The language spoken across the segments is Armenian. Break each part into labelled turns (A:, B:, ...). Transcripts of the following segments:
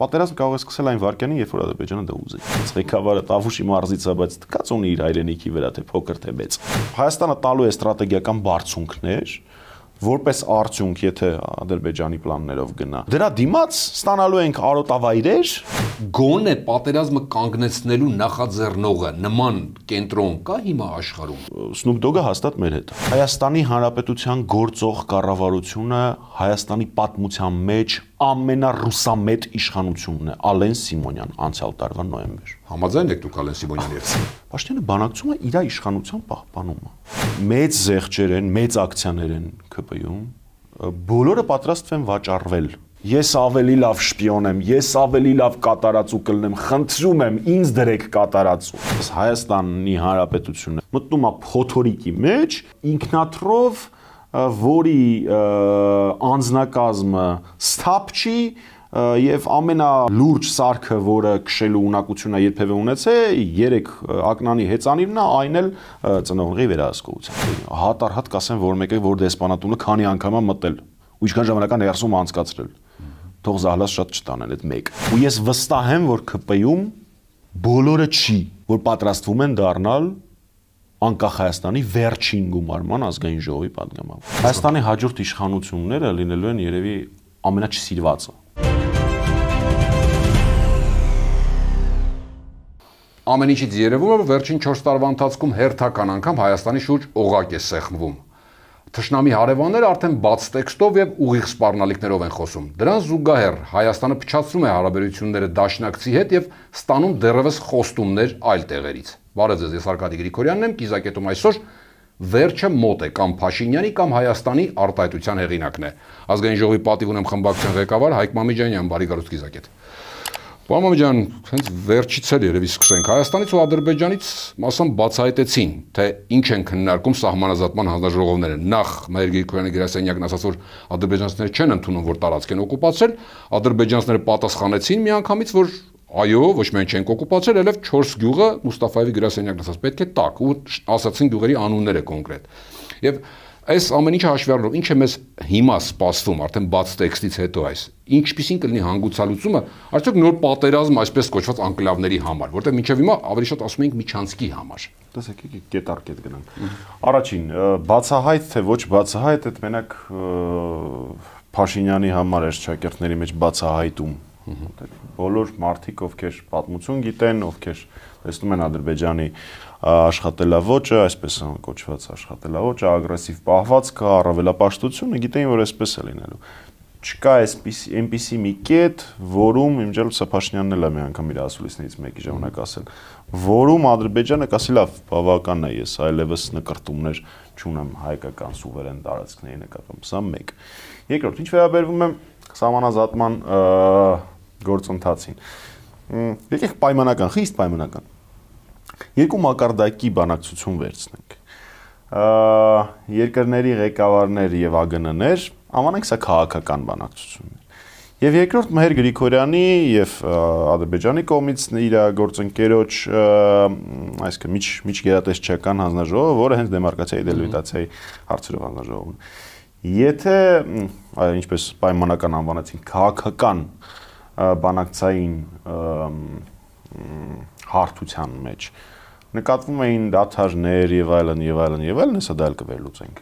A: Պատերազմ կարող է սկսել այն վայրկյանին, երբ որ Ադրբեջանը դա ուզի։ Ղեկավարը Տավուշի մարզից է, բայց դկած ունի իր հայրենիքի վրա, թե փոքր թե մեծ։ Հայաստանը տալու է ստրատեգիական բարձունքներ, որպես արդյունք, եթե Ադրբեջանի պլաններով գնա։ Դրա դիմաց ստանալու ենք արոտավայրեր,
B: գոնե պատերազմը կանգնեցնելու նախաձեռնողը նման կենտրոն կա հիմա աշխարհում։
A: Snoop Dogg-ը հաստատ մեր հետ է։ Հայաստանի Հանրապետության գործող կառավարությունը Հայաստանի պատմության մեջ ամենառուսամետ իշխանությունն է, Ալեն Սիմոնյան, անցյալ տարվա նոյեմբեր։
B: Համաձայն եք դուք Ալեն Սիմոնյանի հետ։
A: Պաշտոնյանը բանակցում է իր իշխանության պահպանումը։ Մեծ զեղչեր են, մեծ ակցիաներ են ԿՊ-ում, բոլորը պատրաստ են վաճառվել։ Ես ավելի լավ շպիոն եմ, ես ավելի լավ կատարածու կլնեմ, խնդրում եմ, ինձ դրեք կատարածու։ Հայաստանի Հանրապետությունը մտնում է փոթորիկի մեջ, ինքնաթրով, որի անձնակազմը սթափ չի եւ ամենալուրջ սարքը, որը քշելու ունակությունը երբևէ ունեցել, 3 ակնանի հեծանիվն է, այն էլ ծնողների վերահսկողությամբ։ Հատառհատ կասեն, որ մեկը որ դեսպանատունը քանի անգամ է մտել, ու ինչքան ժամանակ ներսում անցկացրել։ Թող զահլաս շատ չտանեն այդ մեկ։ Ու ես վստահ եմ, որ ԿՊ-ում բոլորը չի, որ պատրաստվում են դառնալ անկախ Հայաստանի վերջին գումարման ազգային ժողովի պատգամավոր։ Հայաստանի հաջորդ իշխանությունները լինելու են երևի ամենաչսիրվածը։
B: Ամեն ինչից երևում է, որ վերջին 4 տարվա ընթացքում հերթական անգամ Հայաստանի շուրջ օղակ է սեղմվում։ Թշնամի հարևանները արդեն բաց տեքստով եւ ուղիղ սպառնալիքներով են խոսում։ Դրան զուգահեռ Հայաստանը փչացնում է հարաբերությունները դաշնակցի հետ եւ ստանում դեռևս խոստումներ այլ տեղերից։ Բարև ձեզ, ես Արկադի Գրիգորյանն եմ, կիզակետում այսօր վերջը մոտ է կամ Փաշինյանի կամ Հայաստանի արտահայտության հեղինակն է։ Ազգային ժողովի պատիվ ունեմ խմբակցության ղեկավար Հայկ Մամիջանյան, բարի գալուստ կիզակետ։ Պարոն Մամիջան, հենց վերջից էլ երևի սկսենք։ Հայաստանից ու Ադրբեջանից մասամբ բացահայտեցին, թե ինչ են քննարկում սահմանազատման հանձնաժողովները։ Նախ Մհեր Գրիգորյանի գրասենյակն ասաց, որ ադրբեջանցիները չեն ընդունում, որ տարածք են օկուպացրել, ադրբեջանցիները պատասխանեցին միանգամից, որ այո, ոչ մենք չենք օկուպացրել, այլև 4 գյուղը Մուստաֆայևի գրասենյակն ասաց, պետք է տակ, ու ասացին գյուղերի անունները կոնկրետ։ Եվ այս ամեն ինչը հաշվի առնելով, ինչ է մեզ հիմա սպասվում, արդեն բաց տեքստից հետո այս, ինչպիսին կլինի հանգուցալուծումը, արդյոք նոր պատերազմ այսպես կոչված անկլավների համար, որտեղ մինչև հիմա ավելի շատ ասում ենք միջանցքի համար։
A: Տեսեք, կետ առ կետ գնանք։ Առաջին, բացահայտ թե ոչ բացահայտ, այդ մենակ Փաշինյանի համար է շքերթների մեջ բացահայտում։ Բոլոր մարդիկ, ովքեր պատմություն գիտեն, ովքեր տեսնում են Ադրբեջանի աշխատելավոճը, այսպես կոչված աշխատելավոճը, ագրեսիվ պահվածքը, առավելապաշտությունը, գիտեին, որ այսպես է լինելու։ Չկա այնպիսի մի կետ, որում իմջել Փաշինյանն էլ է մի անգամ իր ասուլիսներից մեկի ժամանակ ասել, որում Ադրբեջանը կասի լավ, բավական է, ես այլևս նկրտումներ չունեմ հայկական սուվերեն տարածքների նկատմամբ, սա մեկ։ Երկրորդ, ինչ վերաբերվում է սահմանազատման գործընթացին։ Եկեք պայմանական, խիստ պայմանական։ Երկու մակարդակի բանակցություն վերցնենք։ Երկրների ղեկավարներ եւ ԱԳՆ-ներ, անվանենք սա քաղաքական բանակցություններ։ Եվ երկրորդ Մհեր Գրիգորյանի եւ Ադրբեջանի կողմից իր գործընկերոջ, այսինքն միջգերատեսչական հանձնաժողովը, որը հենց դեմարկացիայի դելիմիտացիայի հարցերով հանձնաժողովն է։ Եթե, ինչպես պայմանական անվանեցին, քաղաքական բանակցային հարթության մեջ նկատվում էին դադարներ եւ այլն եւ այլն եւ այլն, հեսա դա էլ կվերլուծենք։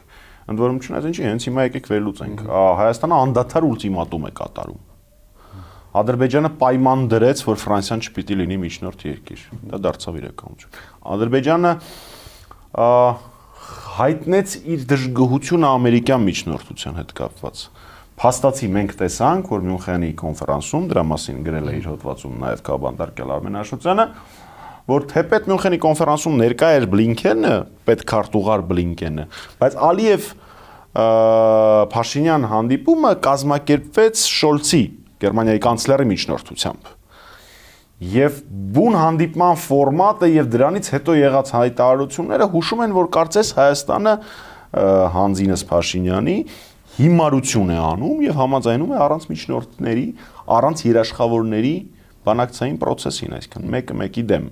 A: Ընդ որում չնայած ինչի, հենց հիմա եկեք վերլուծենք։ Հայաստանը անդադար ուլտիմատում է կատարում։ Ադրբեջանը պայման դրեց, որ Ֆրանսիան չպիտի լինի միջնորդ երկիր։ Դա դարձավ իրականություն։ Ադրբեջանը հայտնեց իր դժգոհությունը ամերիկյան միջնորդության հետ կապված։ Փաստացի մենք տեսանք, որ Մյունխենի կոնֆերանսում, դրա մասին գրել է իր հոդվածում նաև Կաբանդարկել Արմեն Աշոտյանը, որ թեպետ Մյունխենի կոնֆերանսում ներկա էր Բլինքենը, պետքարտուղար Բլինքենը, բայց Ալիև Փաշինյան հանդիպումը կազմակերպվեց Շոլցի, Գերմանիայի կանցլերի միջնորդությամբ։ Եվ բուն հանդիպման ֆորմատը եւ դրանից հետո եղած հայտարարությունները հուշում են, որ կարծես Հայաստանը հանձինս Փաշինյանի հիմարություն է անում եւ համաձայնում է առանց միջնորդների, առանց երաշխավորների բանակցային process-ին, այսինքն մեկը մեկի դեմ։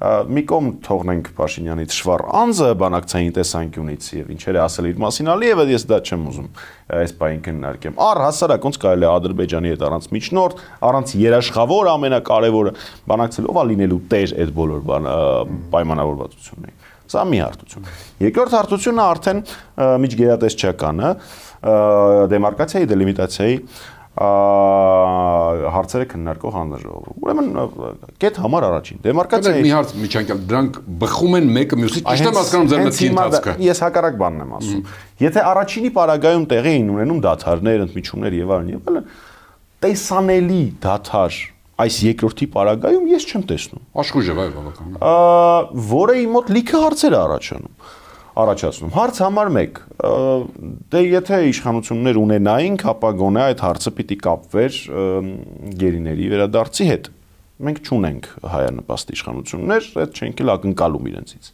A: մի կողմ թողնենք Փաշինյանի թշվառ անձը բանակցային տեսանկյունից եւ ինչեր է ասել իր մասին Ալիևը, ես դա չեմ ուզում այս բային քննարկեմ։ Առհասարակ ոնց կարելի է Ադրբեջանի հետ առանց միջնորդ, առանց երաշխավոր ամենակարևորը բանակցելով լինելու տեր այդ բոլոր պայմանավորվածություններին։ Սա մի հարթություն։ Երկրորդ հարթությունը արդեն միջգերատեսչականը, դեմարկացիայի, դելիմիտացիայի հարցերը քննարկող հանձնաժողովը։ Ուրեմն կետ համար առաջին դեմարկացիայի
B: մի հարց միջանկյալ դրանք բխում են մեկը մյուսից ճիշտ եմ հասկանում ձեր մտքի ընթացքը։
A: Ես հակառակ բանն եմ ասում։ Եթե առաջինի պարագայում տեղի էին ունենում դադարներ, ընդմիջումներ եւ այլն, տեսանելի դադար այս երկրորդի պարագայում ես չեմ տեսնում։
B: Աշխույժ է, բավական։
A: Որը իմ մոտ լիքը հարցեր է առաջացնում։ Հարց համար 1. Դե եթե իշխանություններ ունենայինք, ապա գոնե այդ հարցը պիտի կապվեր գերիների վերադարձի հետ։ Մենք չունենք հայանպաստ իշխանություններ, այդ չենք էլ ակնկալում իրենցից։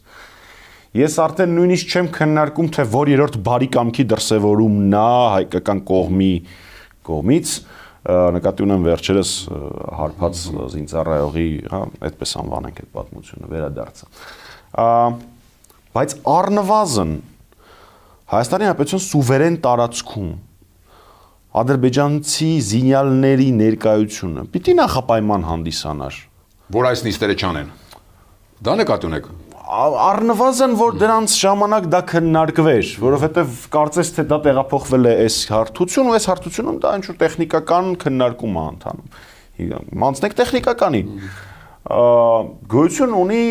A: Ես արդեն նույնիսկ չեմ քննարկում, թե որ երրորդ բարի կամքի դրսևորումն է հայկական կողմից, նկատի ունեմ վերջերս հարբած զինծառայողի, այդպես անվանենք այդ պատմությունը, վերադարձը։ Բայց առնվազն Հայաստանի Հանրապետության սուվերեն տարածքում ադրբեջանցի զինյալների ներկայությունը պիտի նախապայման հանդիսանար,
B: որ այս նիստերը չանեն։ Դա նկատի ունեք։
A: Առնվազն որ դրանց ժամանակ դա քննարկվեր, որովհետև կարծես թե դա տեղափոխվել է այս հարթություն ու այս հարթությունում դա ինչ-որ տեխնիկական քննարկում է ընթանում։ Մանցնեք տեխնիկականի։ Գոյություն ունի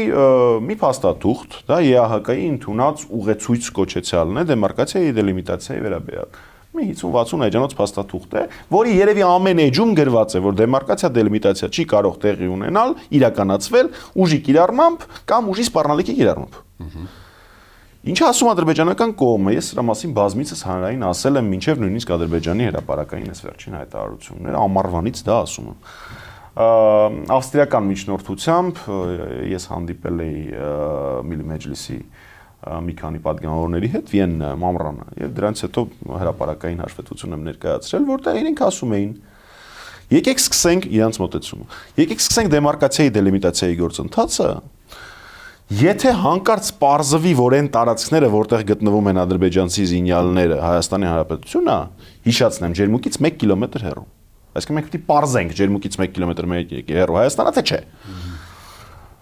A: մի փաստաթուղթ, դա ԵԱՀԿ-ի ընդունած ուղեցույց կոչեցյալն է դեմարկացիայի դելիմիտացիայի վերաբերյալ։ Մի 50-60 էջանոց փաստաթուղթ է, որի երևի ամեն էջում գրված է, որ դեմարկացիա դելիմիտացիա չի կարող տեղի ունենալ, իրականացվել ուժի կիրառմամբ կամ ուժի սպառնալիքի կիրառմամբ։ Ինչ ասում ադրբեջանական կողմը, ես սրա մասին բազմիցս հանրային ասել եմ, մինչև նույնիսկ ադրբեջանի հրապարակային այս վերջին հայտարարությունները ամառվանից դա ասում եմ։ Ավստրիական միջնորդությամբ ես հանդիպել էի Միլի Մեջլիսի մի քանի պատգամավորների հետ Վիեննայում ամռանը եւ դրանից հետո հրապարակային հաշվետվություն եմ ներկայացրել, որտեղ իրենք ասում էին եկեք սկսենք իրանց մոտեցումը։ Եկեք սկսենք դեմարկացիայի դելիմիտացիայի գործընթացը, եթե հանկարծ պարզվի, որ այն տարածքները, որտեղ գտնվում են ադրբեջանցի զինյալները, Հայաստանի Հանրապետությունն է, հիշացնեմ, ջերմուկից 1 կիլոմետր հեռու։ Այսինքն մենք պիտի պարզենք ջերմուկից 1 կիլոմետր հեռու Հայաստանա, թե չէ։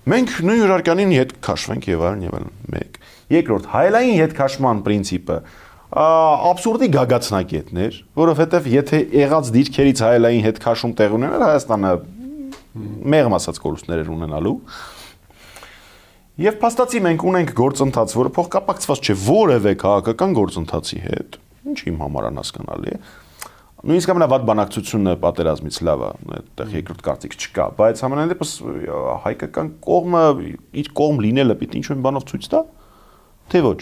A: Մենք նույն հյուրարկանին հետ քաշվենք եւ այլն եւ այլն։ 1. Երկրորդ, հայելային հետքաշման պրինցիպը աբսուրդի գագաթնակետներ, որովհետեւ եթե եղած դիրքերից հայելային հետքաշում տեղ ունենար, Հայաստանը մեղմ ասած կորուստներ էր ունենալու։ Եվ փաստացի մենք ունենք գործընթաց, որը փոխկապակցված չէ որևէ քաղաքական գործընթացի հետ, ինչ իմ համար անհասկանալի է։ Նույնիսկ ամենավատ բանակցությունը պատերազմից լավ է, այդտեղ երկրորդ կարծիք չկա, բայց համենայն դեպս հայկական կողմը իր կողմ լինելը պիտի ինչ-որ բանով ցույց տա, թե ոչ։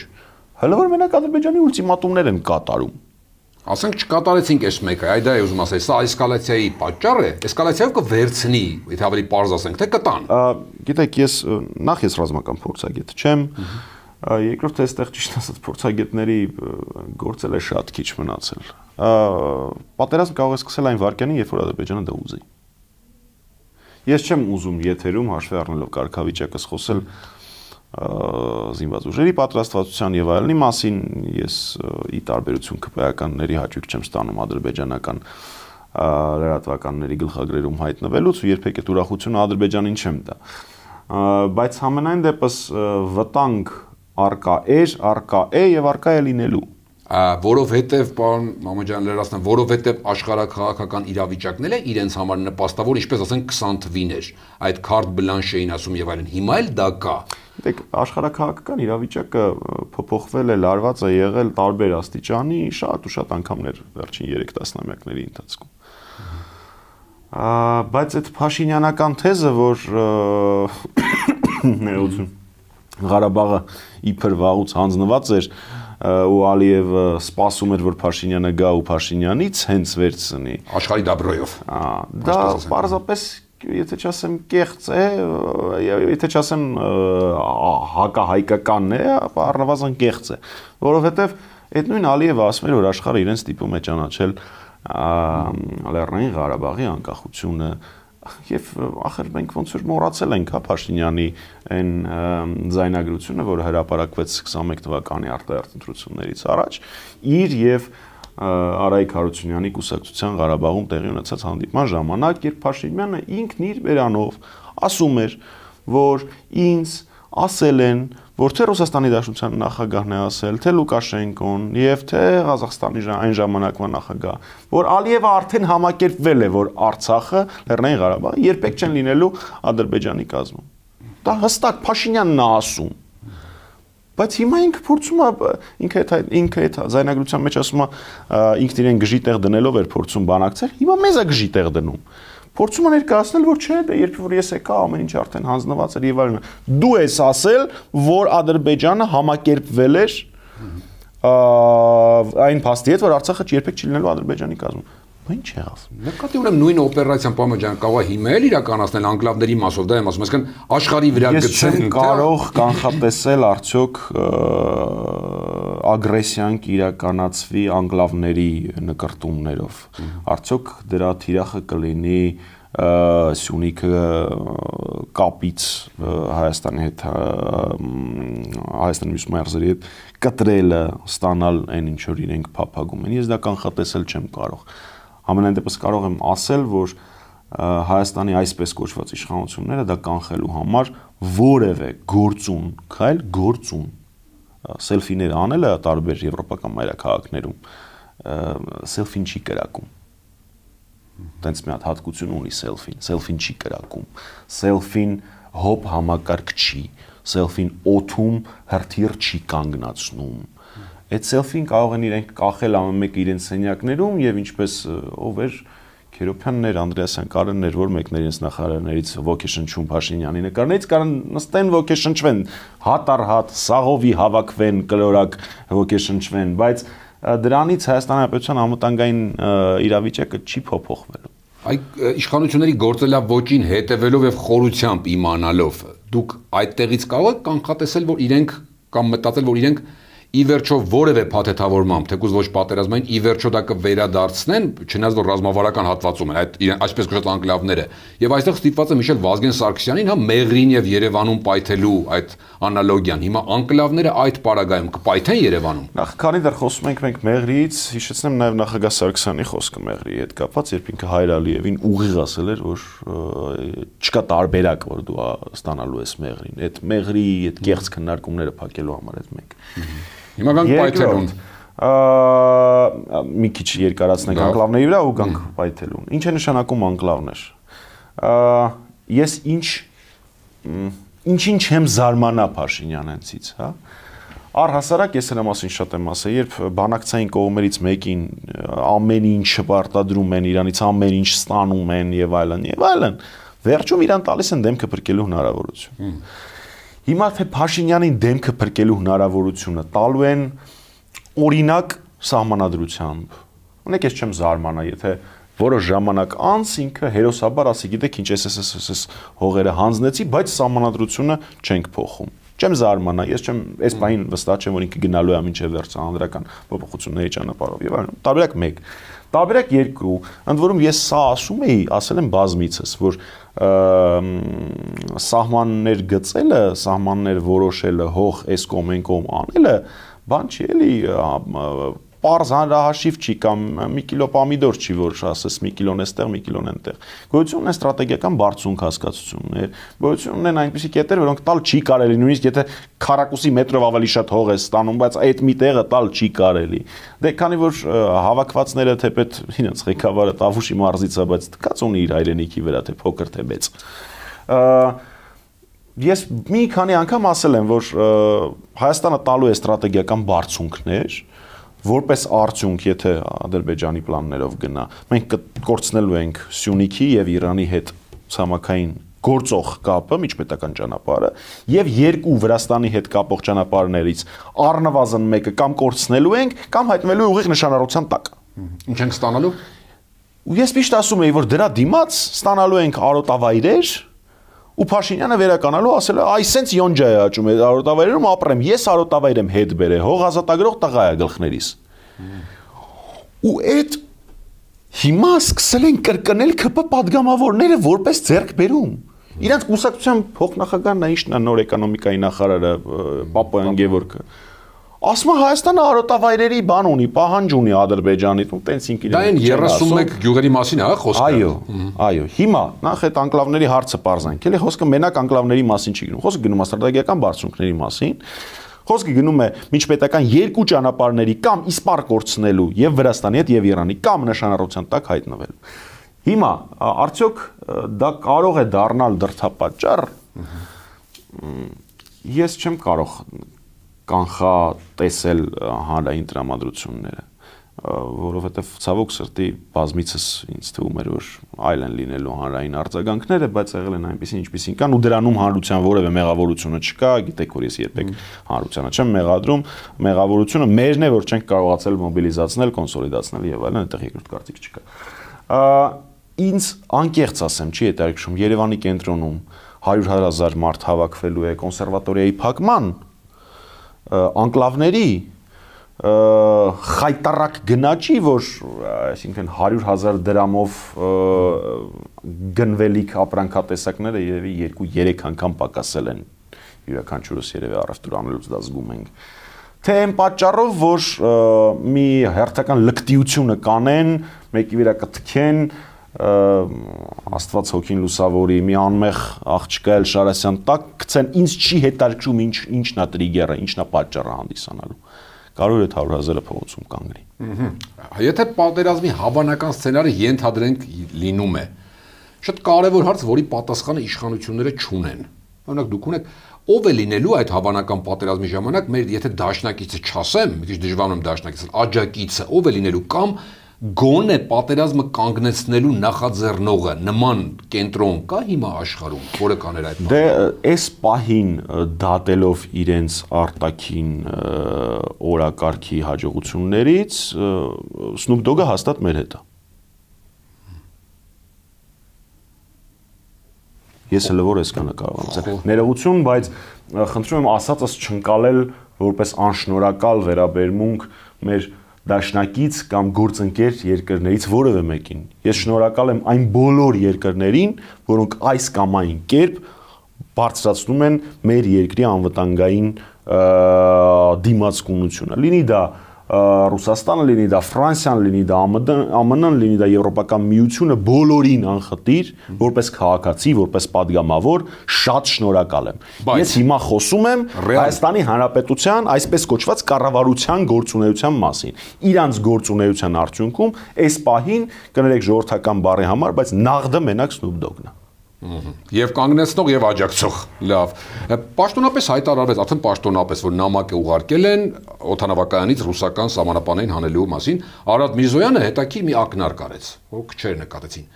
A: Հələ որ մենակ Ադրբեջանի ուլտիմատումներ են կատարում։
B: Ասենք չկատարեցինք այս մեկը, այ դա է ուզում ասել, սա էսկալացիայի պատճառ է, էսկալացիայով կվերցնի, եթե ավելի պարզ ասենք, թե կտան։
A: Գիտեք, ես ռազմական փորձագետ չեմ, երկրորդ այստեղ ճիշտ ասած փորձագետների գործել է շատ քիչ մնացել։ Պատերազմ կարող է սկսել այն վարքյանին, երբ որ Ադրբեջանը դա ուզի։ Ես չեմ ուզում եթերում հաշվի առնելով կարգավիճակը խոսել զինված ուժերի պատրաստվածության եւ այլնի մասին, ես ի տարբերություն ԿՊԱ-ականների հաճույք չեմ ստանում ադրբեջանական լրատվականների գլխագրերում հայտնվելուց ու երբեք այդ ուրախությունը Ադրբեջանին չեմ տա։ Բայց համենայն դեպս վտանգ արկա է եւ արկա է լինելու։
B: Որովհետև պարոն Մամեջյան լրացնեմ, որովհետև աշխարհաքաղաքական իրավիճակն է իրենց համար նպաստավոր, ինչպես ասենք 20 թվին էր, այդ քարտ բլանշ էին ասում եւ այլն, հիմա էլ դա կա։
A: Դեք աշխարհաքաղաքական իրավիճակը փոփոխվել է, լարված է եղել տարբեր աստիճանի շատ ու շատ անգամներ վերջին 3 տասնամյակների ընթացքում։ Բայց այդ փաշինյանական թեզը, որ ներողություն Ղարաբաղը իբր վաղուց հանձնված էր ու Ալիևը սպասում էր, որ Փաշինյանը գա ու Փաշինյանից հենց վերցնի
B: աշխարհի դաբրոյով։
A: Դա պարզապես, եթե չասեմ կեղծ է, եթե չասեմ հակահայկականն է, ապա առնվազն կեղծ է, որովհետև այդ նույն Ալիևը ասում էր, որ աշխարհը իրեն ստիպում է ճանաչել Լեռնային Ղարաբաղի անկախությունը Եվ ախր մենք ոնց որ մոռացել ենք Փաշինյանի այն ձայնագրությունը, որը հրապարակվեց 21 թվականի արտահերթ ընտրություններից առաջ, իր եւ Արայիկ Հարությունյանի կուսակցության Ղարաբաղում տեղի ունեցած հանդիպման ժամանակ, երբ Փաշինյանը ինքն իր բերանով ասում էր, որ ինձ ասել են, որ թե Ռուսաստանի Դաշնության նախագահն է ասել, թե Լուկաշենկոն եւ թե Ղազախստանի այն ժամանակվա նախագահ, որ Ալիևը արդեն համակերպվել է, որ Արցախը, Լեռնային Ղարաբաղը երբեք չեն լինելու Ադրբեջանի կազմում։ Դա հստակ Փաշինյանն է ասում։ Բայց հիմա ինքը փորձում է ինքը այդ զայնագրության մեջ ասում է ինքն իրեն գժի տեղ դնելով էր փորձում բանակցել, հիմա մեզ է գժի տեղ դնում։ Փորձում է ներկայացնել, որ չէ, դե երբ որ ես եկա, ամեն ինչ արդեն հանձնված էր եւ այլն։ Դու ես ասել, որ Ադրբեջանը համակերպվել էր այն փաստի հետ, որ Արցախը երբեք չի լինելու Ադրբեջանի կազմում։ Ինչ եղավ։
B: Նկատի ունեմ նույն օպերացիան Պամեջան կարող է հիմա էլ իրականացնել անկլավների մասով, դա եմ ասում, այսինքն աշխարհի վրա գցել։
A: Ես չեմ կարող կանխատեսել արդյոք ագրեսիան կիրականացվի անկլավների նկարտումներով։ Արդյոք դրա թիրախը կլինի Սյունիքը կապից Հայաստանի հետ Հայաստանի մյուս մարզերի հետ կտրելը ստանալ այն ինչ որ իրենք փափագում են։ Ես դա կանխատեսել չեմ կարող։ Ամենայն դեպս կարող եմ ասել, որ Հայաստանի այսպես կոչված իշխանությունները դա կանխելու համար որևէ գործուն, քայլ գործուն սելֆիներ անելը տարբեր եվրոպական մայրաքաղաքներում սելֆին չի կրակում։ Տենց մի հատ հատկություն ունի սելֆին չի կրակում, սելֆին հոբ համակարգ չի, սելֆին օթում հրթիռ չի կանգնացնում։ Այդ սելֆին կարող են իրենք կախել ամեն մեկը իրենց սենյակներում եւ ինչպես ով էր Քերոփյաններ, Անդրեասյան, Կարեններ, որ մեկն իրենց նախարարներից ոգեշնչում Փաշինյանի նկարներից կարան նստեն ոգեշնչվեն, հատ առ հատ, սաղովի հավաքվեն, կլորակ ոգեշնչվեն, բայց դրանից Հայաստանի Հանրապետության անվտանգային իրավիճակը չի փոփոխվելու։
B: Այդ իշխանությունների գործելավոճին հետևելով եւ խորությամբ իմանալով դուք այդտեղից կարող եք կանխատեսել, որ իրենք կամ մտածել, որ իրենք ի վերջո որևէ փաթեթավորմամբ, թեկուզ ոչ պատերազմային, ի վերջո դա կվերադարձնեն, չնայած որ ռազմավարական հատվածում են այդ այսպես կոչված անկլավները։ Եվ այստեղ ստիպված եմ հիշել Վազգեն Սարգսյանին, հա Մեղրին եւ Երևանում պայթելու այդ անալոգիան։ Հիմա անկլավները այդ պարագայում կպայթեն Երևանում։
A: Նախ քանի դեռ խոսում ենք մենք Մեղրիից, հիշեցնեմ նաեւ նախագահ Սարգսյանի խոսքը Մեղրիի հետ կապված, երբ ինքը Հայր Ալիևին ուղիղ ասել էր, որ չկա տարբերակ, որ դու ստանալու ես Մեղրին։ Այդ Մեղրի այդ կեղծ քննարկումները փակելու համար այդ մեկ։
B: Հիմա գանք պայթելուն։
A: Մի քիչ երկարացնենք անկլավների վրա ու գանք պայթելուն։ Ինչ է նշանակում անկլավներ։ Ես ինչ եմ զարմանա Փաշինյանցից, հա։ Առհասարակ ես նրա մասին շատ եմ ասել, երբ բանակցային կողմերից մեկին ամեն ինչ պարտադրում են, իրանից ամեն ինչ ստանում են եւ այլն, վերջում իրան տալիս են դեմքը փրկելու հնարավորություն։ Հիմա թե Փաշինյանին դեմքը փրկելու հնարավորությունը տալու են օրինակ սահմանադրությամբ։ Ունեք ես չեմ զարմանա, եթե որոշ ժամանակ անց ինքը հերոսաբար ասի, գիտեք ինչ SSSS հողերը հանձնեցի, բայց սահմանադրությունը չենք փոխում։ Չեմ զարմանա, ես չեմ այս բանին վստահ չեմ, որ ինքը գնալու է մինչև վերջ հանրական փոփոխությունների ճանապարհով եւ այլն։ Տարբերակ 1, տարբերակ 2, ընդ որում ես սա ասում էի, ասել եմ բազմիցս, որ սահմաններ գծելը, սահմաններ որոշելը, հող այս կողմ այն կողմ անելը, բան չի էլի, պարզ հանրահաշիվ չի կամ մի կիլո պամիդոր չի, որ ասես մի կիլոն էստեղ, մի կիլոն այնտեղ։ Գոյություն ունեն ստրատեգիական բարձունք հասկացություններ, գոյություն ունեն այնպիսի կետեր, որոնք տալ չի կարելի, նույնիսկ եթե քառակուսի մետրով ավելի շատ հող է ստանում, բայց այդ մի տեղը տալ չի կարելի։ Դե քանի որ հավաքվածները թեպետ իրենց ղեկավարը Տավուշի մարզից է, բայց դկած ունի իր հայրենիքի վրա, թե փոքր թե մեծ։ Ես մի քանի անգամ ասել եմ, որ Հայաստանը տալու է ստրատեգիական բարձունքներ, որպես արդյունք, եթե Ադրբեջանի պլաններով գնա, մենք կկորցնելու ենք Սյունիքի եւ Իրանի հետ ցամաքային գործող կապը, միջպետական ճանապարհը, եւ երկու Վրաստանի հետ կապող ճանապարհներից առնվազն մեկը կամ կորցնելու ենք, կամ հայտնվելու ուղիղ նշանառության տակ։
B: Ինչ ենք ստանալու։
A: Ու ես միշտ ասում եի, որ դրա դիմաց ստանալու ենք արոտավայրեր, ու Փաշինյանը վերականալու ասել է, այ սենց յոնջա է աճում այդ արոտավայրերում ապրեմ, ես արոտավայր եմ հետ բերե, հող ազատագրող տղա է գլխներիս։ Ու այդ Հիմա սկսել են կրկնել ԿՊ падգամավորները որպես ձեռքբերում։ Իրանց կուսակցության փոխնախագահն է, ինչն է նոր էկոնոմիկայի նախարարը Պապոյան Գևորգը։ Ասում է Հայաստանը արոտավայրերի բան ունի, պահանջ ունի Ադրբեջանից, ու տենց ինքն
B: դա այն 31 գյուղերի մասին է, խոսքը։
A: Այո, հիմա նախ այդ անկլավների հարցը պարզանք, էլի խոսքը մենակ անկլավների մասին չի գնում, խոսքը գնում է ստրատեգիական բարձունքների մասին, խոսքը գնում է միջպետական երկու ճանապարհների կամ իսպառ կորցնելու եւ Վրաստանի հետ եւ Իրանի կամ նշանառության տակ հայտնվելու։ Հիմա արդյոք դա կարող է դառնալ դրդապատճառ։ Ես չեմ կարող կանխատեսել հանրային տրամադրությունները, որովհետև ցավոք սրտի բազմիցս ինձ թվում էր, որ այլ են լինելու հանրային արձագանքները, բայց եղել են այնպեսին, ինչպեսին կան, ու դրանում հանրության որևէ մեղավորությունը չկա, գիտեք, որ ես երբեք հանրությանը չեմ մեղադրում, մեղավորությունը մերն է, որ չենք կարողացել մոբիլիզացնել, կոնսոլիդացնել եւ այլն, այդտեղ երկրորդ կարծիք չկա։ Ինձ անկեղծ ասեմ, չի հետաքրքրում Երևանի կենտրոնում 100,000 մարդ հավաքվելու է կոնսերվատորիայի փակման, անկլավների խայտարակ գնաճի, որ այսինքն 100,000 դրամով գնվելիք ապրանքատեսակները երևի 2-3 անգամ պակասել են յուրաքանչյուրս երևի առևտուր անելուց դա զգում ենք, թե այն պատճառով, որ մի հերթական լկտիությունը կանեն, մեկի վրա կթքեն, Աստված հոգին լուսավորի, մի անմեղ աղջկա էլ Շարասյան տակ գցեն, ինձ չի հետաքրքրում ինչն է տրիգերը, ինչն է պատճառը հանդիսանալու։ Կարող է 100,000-ը փողոցում կանգնի։
B: Եթե պատերազմի հավանական սցենարը ենթադրենք լինում է, շատ կարևոր հարց, որի պատասխանը իշխանությունները չունեն։ Օրինակ դուք ունեք ով է լինելու այդ հավանական պատերազմի ժամանակ, մեր եթե դաշնակիցը չասեմ, մի քիչ դժվար եմ դաշնակիցը, աջակիցը ով է լինելու կամ գոնե պատերազմը կանգնեցնելու նախաձեռնողը նման կենտրոն կա հիմա աշխարհում, որը կաներ այդ բանը։
A: Դե այս պահին դատելով իրենց արտաքին օրակարգի հաջողություններից Snoop Dogg-ը հաստատ մեր հետ է։ Ես հələ որ այսքանը կարող եմ ասել։ Ներողություն, բայց խնդրում եմ ասածս չընկալել որպես անշնորհակալ վերաբերմունք մեր դաշնակից կամ գործընկեր երկրներից որևէ մեկին։ Ես շնորհակալ եմ այն բոլոր երկրներին, որոնք այս կամ այն կերպ բարձրացնում են մեր երկրի անվտանգային դիմացկունությունը։ Լինի դա Ռուսաստանը, լինի դա Ֆրանսիան, լինի դա ԱՄՆ-ն, լինի դա Եվրոպական միությունը, բոլորին անխտիր, որպես քաղաքացի, որպես падգամավոր, շատ շնորհակալ եմ։ Ես հիմա խոսում եմ Հայաստանի Հանրապետության այսպես կոչված կառավարության գործունեության մասին։ Իրանց գործունեության արդյունքում այս պահին կներեք ժողովրդական բառի համար, բայց նաղդը մենակ Snoop Dogg-ն է։
B: Եվ կանգնեցնող եւ աջակցող։ Լավ։ Պաշտոնապես հայտարարվեց, արդեն պաշտոնապես, որ նամակ է ուղարկել են օդանավակայանից ռուսական սահմանապանային հանելու մասին։ Արադ Միրզոյանը հետաքրքիր մի ակնարկ արեց, որ քչեր նկատեցին։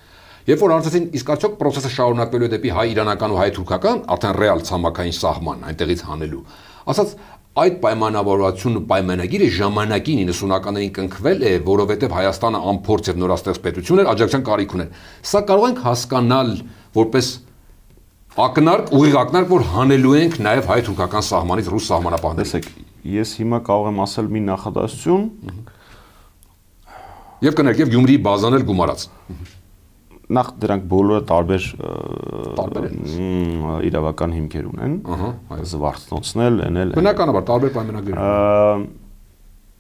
B: Երբ որ հարցեցին, իսկ արդյոք process-ը շարունակվելու է դեպի հայ-իրանական ու հայ-թուրքական, արդեն ռեալ ցամաքային սահման այնտեղից հանելու։ Ասած այդ պայմանավորվածությունը պայմանագիրը ժամանակին 90-ականներին կնքվել է, որովհետև Հայաստանը անփորձ եւ նորաստեղծ պետություն էր, աջակցության կարիք ուներ։ Սա կարող ենք հասկանալ որպես ակնարկ, ուղիղ ակնարկ, որ հանելու ենք նաև հայ-թուրքական սահմանից ռուս սահմանապահներ։
A: Տեսեք, ես հիմա կարող եմ ասել մի նախադասություն
B: եւ կներեք եւ Գյումրիի բազան էլ գումարած։
A: Նախ դրանք բոլորը տարբեր իրավական հիմքեր ունեն, զվարթնոցնել, էնել։
B: Բնականաբար տարբեր պայմանագրեր։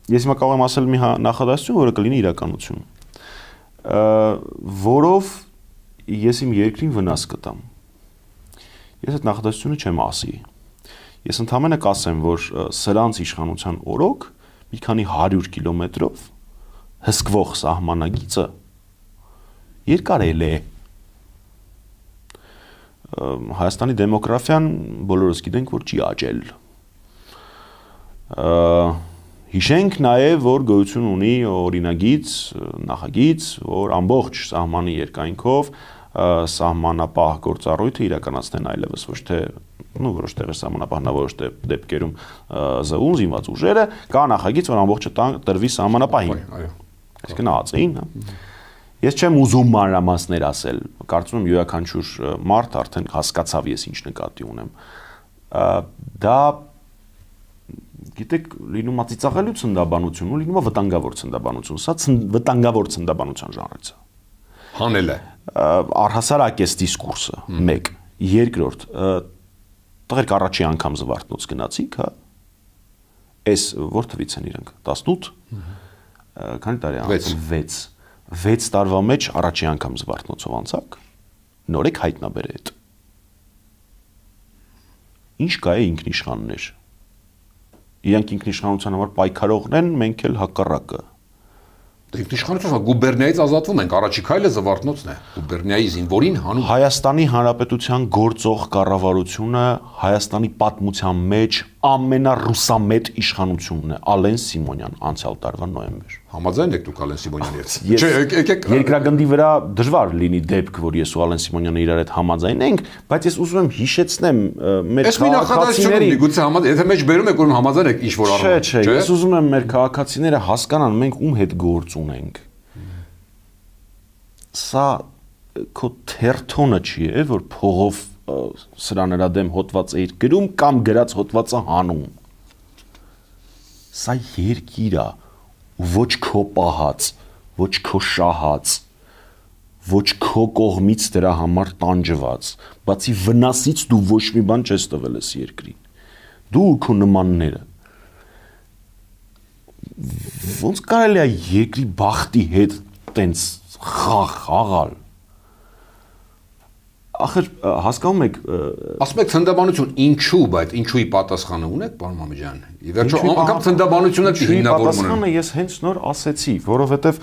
A: Ես հիմա կարող եմ ասել մի նախադասություն, որը կլինի իրականություն, որով ես իմ երկրին վնաս կտամ։ Ես այդ նախադասությունը չեմ ասի։ Ես ընդհանրապես կասեմ, որ սրանց իշխանության օրոք մի քանի 100 կիլոմետրով հսկվող սահմանագիծը երկարել է։ Հայաստանի դեմոգրաֆիան բոլորս գիտենք, որ չի աճել։ Հիշենք նաև, որ գոյություն ունի օրինագիծ, նախագիծ, որ ամբողջ սահմանի երկայնքով սահմանապահ գործառույթը իրականացնեն այլևս ոչ թե որոշ տեղեր սահմանապահն որոշ դեպքերում ԶՈՒ զինված ուժերը, կա նախագիծ, որ ամբողջը տրվի սահմանապահին։ Այսինքն ԱԱԾ-ին, Ես չեմ ուզում մանրամասներ ասել, կարծում եմ յուրաքանչյուր մարդ արդեն հասկացավ ես ինչ նկատի ունեմ։ Դա գիտեք, լինում է ծիծաղալու ցնդաբանություն ու լինում է վտանգավոր ցնդաբանություն։ Սա վտանգավոր ցնդաբանության ժանրից է։
B: Հանել է։
A: Առհասարակ էս դիսկուրսը 1, երկրորդ, տղերք առաջի անգամ զվարթնոց գնացիք, հա։ Էս որ թվից են իրանք 18 քանի տարի անց 6 տարվա մեջ առաջի անգամ զվարթնոցով անցակ նոր եք հայտնաբերել այդ ինչ կա է ինքնիշխաններ իրանք ինքնիշխանության համար պայքարողն են մենք էլ հակառակը
B: ինքնիշխանությունը գուբերնիայից ազատվում ենք առաջի քայլը զվարթնոցն է գուբերնիայի զինվորին հանում
A: Հայաստանի Հանրապետության գործող կառավարությունը Հայաստանի պատմության մեջ ամենառուսամետ իշխանությունն է Ալեն Սիմոնյան անցյալ տարվա նոյեմբեր
B: Համաձայն եք դուք Ալեն Սիմոնյանի հետ
A: Չէ եկեք երկրագնդի վրա դժվար լինի դեպք որ ես ու Ալեն Սիմոնյանը իրար հետ համաձայն ենք բայց ես ուզում եմ հիշեցնեմ մեր
B: քաղաքացիների գուցե համաձայն եթե մեջ բերում եք որ համաձայն եք ինչ որ առնում
A: Չէ ես ուզում եմ մեր քաղաքացիները հասկանան մենք ում հետ գործ ունենք Սա քո թերթոնը չի է որ փողով սրա նրա դեմ հոդված էիր գրում կամ գրած հոդվածը հանում Սա երկիր է ոչ քո պահած ոչ քո շահած ոչ քո կողմից դրա համար տանջված բացի վնասից դու ոչ մի բան չես տվել ես երկրին դու քո նմանները ոնց կարելի է երկրի բախտի հետ տենց խաղալ Ախր հասկանում եք
B: ասում եք ցնդաբանություն ինչու բայց ինչուի պատասխանը ունեք պարոն Մամեջյան ի վերջո անգամ ցնդաբանությունը հիմնավորում
A: պատասխանը ես հենց նոր ասեցի որովհետև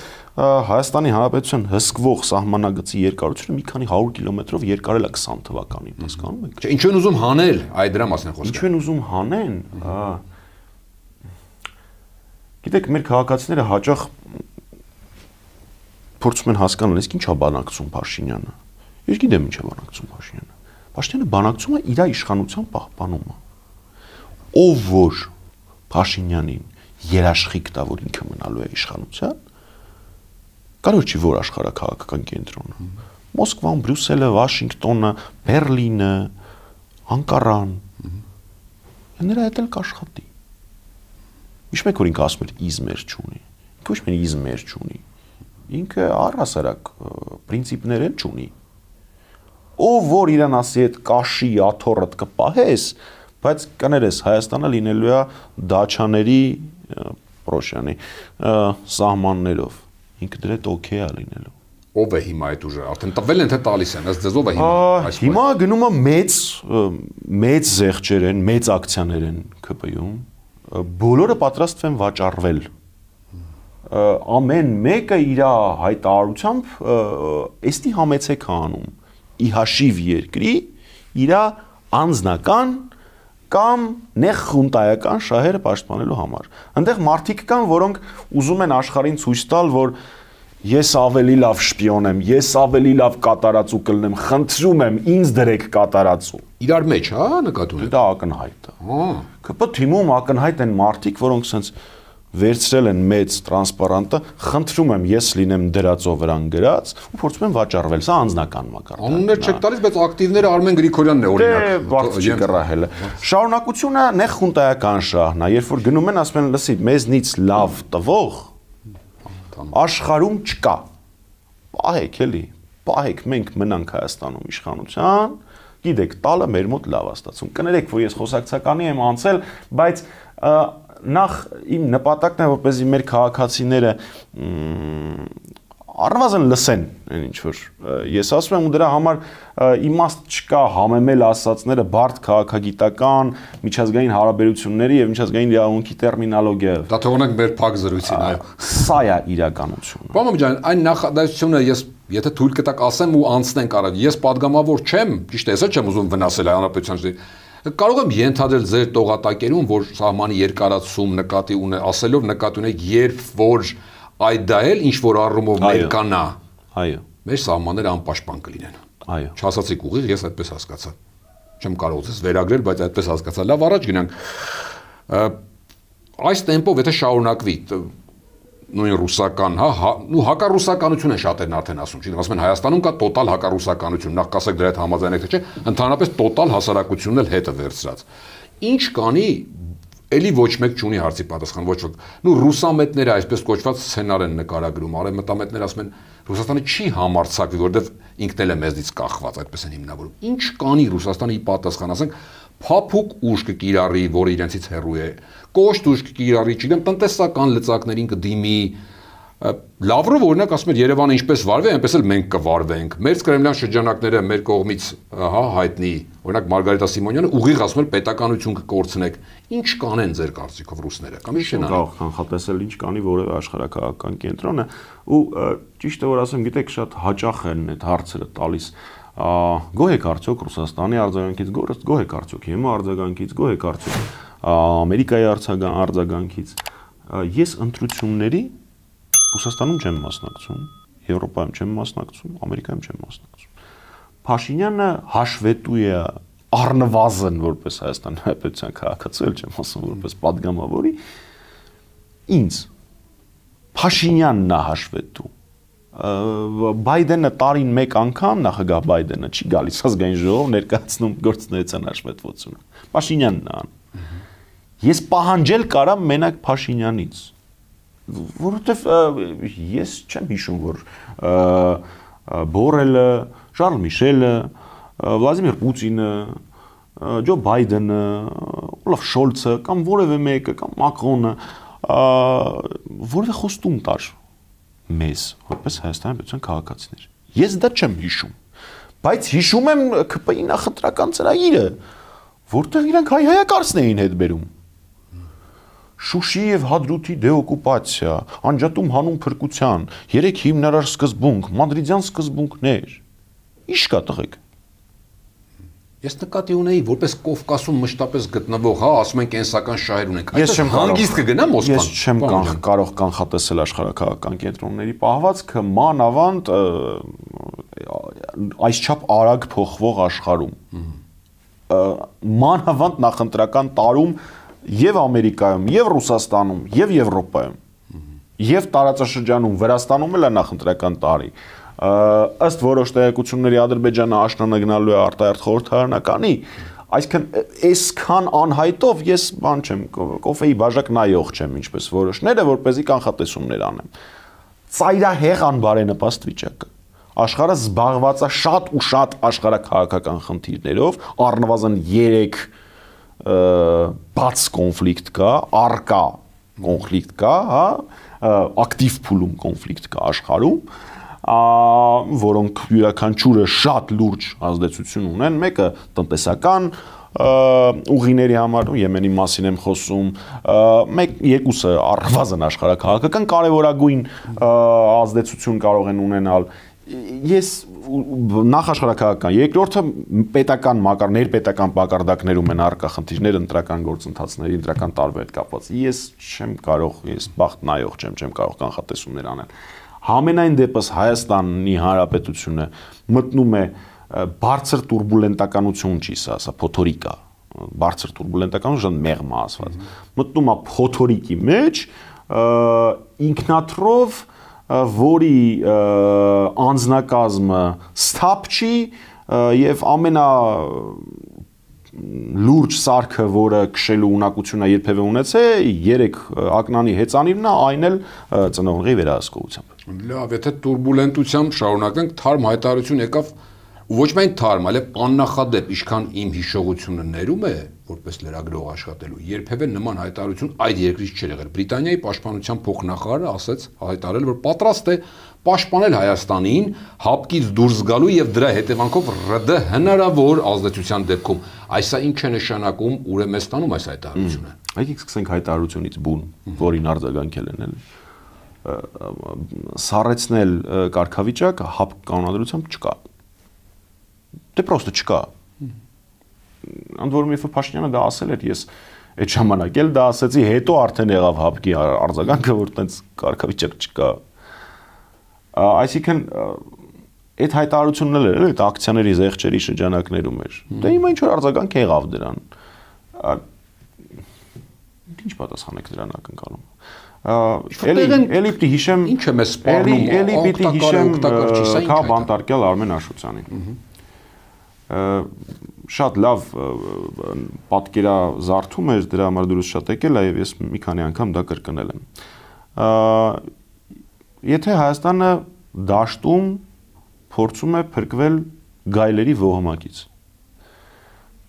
A: Հայաստանի Հանրապետության հսկվող սահմանագծի երկարությունը մի քանի 100 կիլոմետրով երկարել է 20 թվականին հասկանում եք
B: Չէ ինչու են ուզում հանել այդ դրա մասին խոսքը
A: Ինչու են ուզում հանեն Գիտեք մեր քաղաքացիները հաճախ փորձում են հասկանալ իսկ ինչա բանակցում Փաշինյանը Ես գիտեմ ինչ է բանակցում Փաշինյանը։ Փաշինյանը բանակցում է իր իշխանության պահպանումը։ Ով որ Փաշինյանին երաշխիք տա, որ ինքը մնալու է իշխանության, կարող չի որ աշխարհակաղակական կենտրոնը։ Մոսկվան, Բրյուսելը, Վաշինգտոնը, Բերլինը, Անկարան։ Նրա հետ էլ կաշխատի։ Ինչ մեկ որ ինքը ասում էր իզմեր չունի։ Ինքը ոչ մի իզմեր չունի։ Ինքը առհասարակ պրինցիպներ էլ չունի։ Ով որ իրան ասի այդ կաշի աթոռդ կպահես, բայց կներես Հայաստանը լինելու է դաչաների Պրոշյանի սահմաններով։ Ինքը դրա հետ օքեյ է լինելու։
B: Ով է հիմա այդ ուժը։ Արդեն տվել են թե տալիս են, ըստ ձեզ ով է հիմա։
A: Հիմա գնում է մեծ զեղչեր են, մեծ ակցիաներ են ԿՊ-ում։ Բոլորը պատրաստ են վաճառվել։ Ամեն մեկը իր հայտարարությամբ էստի համեցեք անում։ Ի հաշիվ երկրի իր անձնական կամ նեղ խունտայական շահերը պաշտպանելու համար։ Այնտեղ մարդիկ կան, որոնք ուզում են աշխարհին ցույց տալ, որ ես ավելի լավ շպիոն եմ, ես ավելի լավ կատարածու կլնեմ, խնդրում եմ ինձ դրեք կատարածու։
B: Իրար մեջ, հա, նկատում եք։
A: Դա ակնհայտ է։ ԿՊ թիմում ակնհայտ են մարդիկ, որոնք sense վերցրել են մեծ տրանսպարանտը, խնդրում եմ ես լինեմ դրածով վրան գրած ու փորձում եմ վաճառվել, սա անձնական մակարդակ։
B: Անուններ չեք տալիս, բայց ակտիվները Արմեն Գրիգորյանն է օրինակ։
A: Բարդ չի կռահելը։ Շարունակությունը նեղ խունտայական շահն է, երբ որ գնում են ասում են, լսի, մեզնից լավ տվող աշխարհում չկա։ Պահեք էլի, պահեք մենք մնանք Հայաստանում իշխանության, գիտեք, տալը մեր մոտ լավ է ստացվում։ Կներեք, որ ես խոսակցականի եմ անցել, բայց նախ իմ նպատակն է որպեսզի մեր քաղաքացիները առնվազն լսեն այն ինչ որ ես ասում եմ ու դրա համար իմաստ չկա համեմել ասածները բարդ քաղաքագիտական միջազգային հարաբերությունների եւ միջազգային իրավունքի տերմինոլոգիայով
B: դա թողնենք մեր փակ զրույցին այո
A: սա է իրականությունը
B: Պարոն ջան այն նախադասությունը ես եթե թույլ կտակ ասեմ ու անցնենք առ ես падգամավոր չեմ ճիշտ է հեսա չեմ ուզում վնասել հանրապետության Կարող եմ ենթադրել ձեր տողատակերում, որ սահմանի երկարացում նկատի ունի, ասելով նկատի ունեք, երբ որ այդ դա էլ ինչ որ առումով ներկանա։
A: Այո։
B: Մեր սահմանները անպաշտպան կլինեն։
A: Այո։
B: Չասացիք ուղիղ, ես այդպես հասկացա։ Չեմ կարող ձեզ վերագրել, բայց այդպես հասկացա։ Լավ, առաջ գնանք։ Այս տեմպով եթե շարունակվի, նույն ռուսական, հա, ու հակառուսականություն են շատերն արդեն ասում, չի ասում են Հայաստանում կա տոտալ հակառուսականություն, նախ կասեք դրա հետ համաձայնեք թե չէ, ընդհանրապես տոտալ հասարակությունն էլ հետը վերցրած։ Ինչ կանի Էլի ոչ մեկ չունի հարցի պատասխան, ոչ ոք։ Նու ռուսամետները այսպես կոչված սցենար են նկարագրում, արևմտամետները ասում են Ռուսաստանը չի համարձակվի, որովհետև ինքն էլ է մեզնից կախված, այդպես են հիմնավորում։ Ինչ կանի Ռուսաստանի պատասխան, ասենք, փափուկ ուժ կկիրառի, որը իրենցից հեռու է, կոշտ ուժ կկիրառի, չգիտեմ, տնտեսական լծակներին կդիմի, Լավրով օրինակ ասում էր Երևանը ինչպես վարվի, այնպես էլ մենք կվարվենք։ Մեր կրեմլյան շրջանակները մեր կողմից հայտնի, օրինակ Մարգարիտա Սիմոնյանը ուղիղ ասում էր պետականություն կկորցնեք։ Ինչ կանեն ձեր կարծիքով ռուսները, կամ ինչ չեն անի։
A: Կարող կանխատեսել ինչ կանի որևէ աշխարհակահաղական կենտրոնը, ու ճիշտ է որ ասեմ, գիտեք, շատ հաճախ են այդ հարցերը տալիս։ Գոհ եք արդյոք Ռուսաստանի արձագանքից, գոհ եք արդյոք ՀՄ արձագանքից, գոհ եք արդյոք Ամերիկայի արձագանքից։ Ես ընտրությունների Ռուսաստանում չեմ մասնակցում, Եվրոպայում չեմ մասնակցում, Ամերիկայում չեմ մասնակցում։ Փաշինյանը հաշվետու է առնվազն որպես Հայաստանի Հանրապետության քաղաքացի, չեմ ասում որպես падգամավորի, ինձ Փաշինյանն է հաշվետու։ Բայդենը տարին մեկ անգամ նախագահ Բայդենը չի գալիս ազգային ժողով ներկայացնում գործունեության հաշվետվությունը։ Փաշինյանն է անում։ Ես պահանջել կարամ մենակ Փաշինյանից, որովհետև ես չեմ հիշում, որ Բորելը, Շարլ Միշելը, Վլադիմիր Պուտինը, Ջո Բայդենը, Օլաֆ Շոլցը կամ որևէ մեկը կամ Մակրոնը որևէ խոստում տար մեզ, որպես Հայաստանի Հանրապետության քաղաքացիներ։ Ես դա չեմ հիշում, բայց հիշում եմ ԿՊ-ի նախընտրական ծրագիրը, որտեղ իրանք հայ-հայակարծն էին հետ բերում։ Շուշի եւ Հադրութի դեօկուպացիա, անջատում հանուն փրկության, 3 հիմնարար սկզբունք, մադրիդյան սկզբունքներ։ Ինչ կա տղեկ։
B: Ես նկատի ունեի, որպես Կովկասում մշտապես գտնվող, ասում են կենսական շահեր ունենք։ Այսպես հանգիստ կգնա Մոսկվան։
A: Ես չեմ կարող կանխատեսել աշխարհակահաղական կենտրոնների պահվածքը մանավանդ այսչափ արագ փոխվող աշխարհում։ Մանավանդ նախընտրական տարում եւ Ամերիկայում, եւ Ռուսաստանում, եւ Եվրոպայում, եւ տարածաշրջանում Վրաստանում էլ է նախընտրական տարի։ Ըստ որոշ տեղեկությունների Ադրբեջանը աշնանագնալու է արտահերթ խորհրդարանականի, այսինքն այսքան անհայտով ես բան չեմ, կոֆեի բաժակ նայող չեմ, ինչպես որոշները, որպեսզի կանխատեսումներ անեմ։ Ծայրահեղ անբարենպաստ վիճակը։ Աշխարհը զբաղված է շատ ու շատ աշխարհակահաղական խնդիրներով, առնվազն 3 բաց կոնֆլիկտ կա, արկա կոնֆլիկտ կա, հա, ակտիվ փուլում կոնֆլիկտ կա աշխարհում, որոնք յուրաքանչյուրը շատ լուրջ ազդեցություն ունեն, մեկը տնտեսական ուղիների համար, Եմենի մասին եմ խոսում, երկուսը առնվազն աշխարհակահաղական կարևորագույն ազդեցություն կարող են ունենալ։ Ես նախաշխարհակահաղական, երկրորդը պետական ներպետական մակարդակներում են առկա խնդիրներ ընտրական գործընթացների, ընտրական տարվա հետ կապված։ Ես չեմ կարող, ես բախտ նայող չեմ կարող կանխատեսումներ անել։ Համենայն դեպս Հայաստանի Հանրապետությունը մտնում է բարձր տուրբուլենտականություն, չի սա փոթորիկ է, բարձր տուրբուլենտականություն մեղմ է ասված։ Մտնում է փոթորիկի մեջ, ինքնաթրով որի անձնակազմը սթափ չի եւ ամենա լուրջ սարքը, որը քշելու ունակությունը երբևէ ունեցել, 3 ակնանի հեծանիվն է, այն էլ ծնողների վերահսկողությամբ։
B: Լավ, եթե տուրբուլենտությամբ շարունակենք, թարմ հայտարարություն եկավ, ոչ միայն թարմ, այլև աննախադեպ, ինչքան իմ հիշողությունը ներում է, որպես լրագրող աշխատելու, երբևէ նման հայտարարություն այդ երկրից չէր եղել։ Բրիտանիայի պաշտպանության փոխնախարարը ասաց, հայտարարել, որ պատրաստ է պաշտպանել Հայաստանին հապկից դուրս գալու եւ դրա հետևանքով ՌԴ հնարավոր ազդեցության դեպքում։ Այսա ինչ է նշանակում, ուր է մեզ տանում այս հայտարարությունը։
A: Եկեք սկսենք հայտարարությունից բուն, որին արձագանքել են, սառեցնել կարգավիճակը հապկ կանոնադրությամբ չկա։ Դե պրոստը չկա։ Ընդ որում երբ Փաշինյանը դա ասել էր, ես այդ ժամանակ էլ դա ասեցի, հետո արդեն եղավ հապկի արձագանքը, որ տենց կարգավիճակ չկա։ Այսինքն այդ հայտարարությունն էլ էր, այդ ակցիաների զեղչերի շրջանակներում էր։ Դե հիմա ինչ որ արձագանք եղավ դրան։ Ինչ պատասխանեք դրան ակնկալում։ Էլի պիտի հիշեմ,
B: ինչ է մեզ սպառնում,
A: էլի պիտի հիշեմ Քա բանտարկյալ Արմեն Աշոտյանին։ շատ լավ պատկերազարդում էր, դրա համար դուրս շատ եկել է եւ ես մի քանի անգամ դա կրկնել եմ։ Եթե Հայաստանը դաշտում փորձում է փրկվել գայլերի ոհմակից,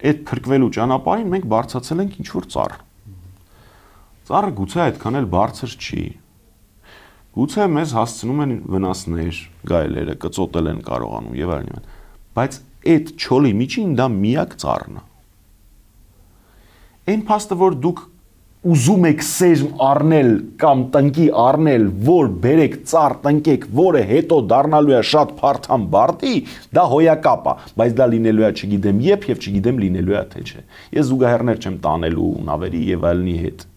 A: այդ փրկվելու ճանապարհին մենք բարձրացել ենք ինչ-որ ծառ։ Ծառը գուցե այդքան էլ բարձր չի։ Գուցե մեզ հասցնում են վնասներ, գայլերը կծոտել են կարողանում եւ այլն, բայց այդ չոլի միջին դա միակ ծառն է։ Այն փաստը, որ դուք ուզում եք սերմ առնել կամ տնկի առնել, որ բերեք ծառ տնկեք, որը հետո դառնալու է շատ փարթամ բարտի, դա հոյակապ է, բայց դա լինելու է չգիտեմ երբ եւ չգիտեմ լինելու է թե չէ։ Ես զուգահեռներ չեմ տանելու նավերի եւ այլնի հետ։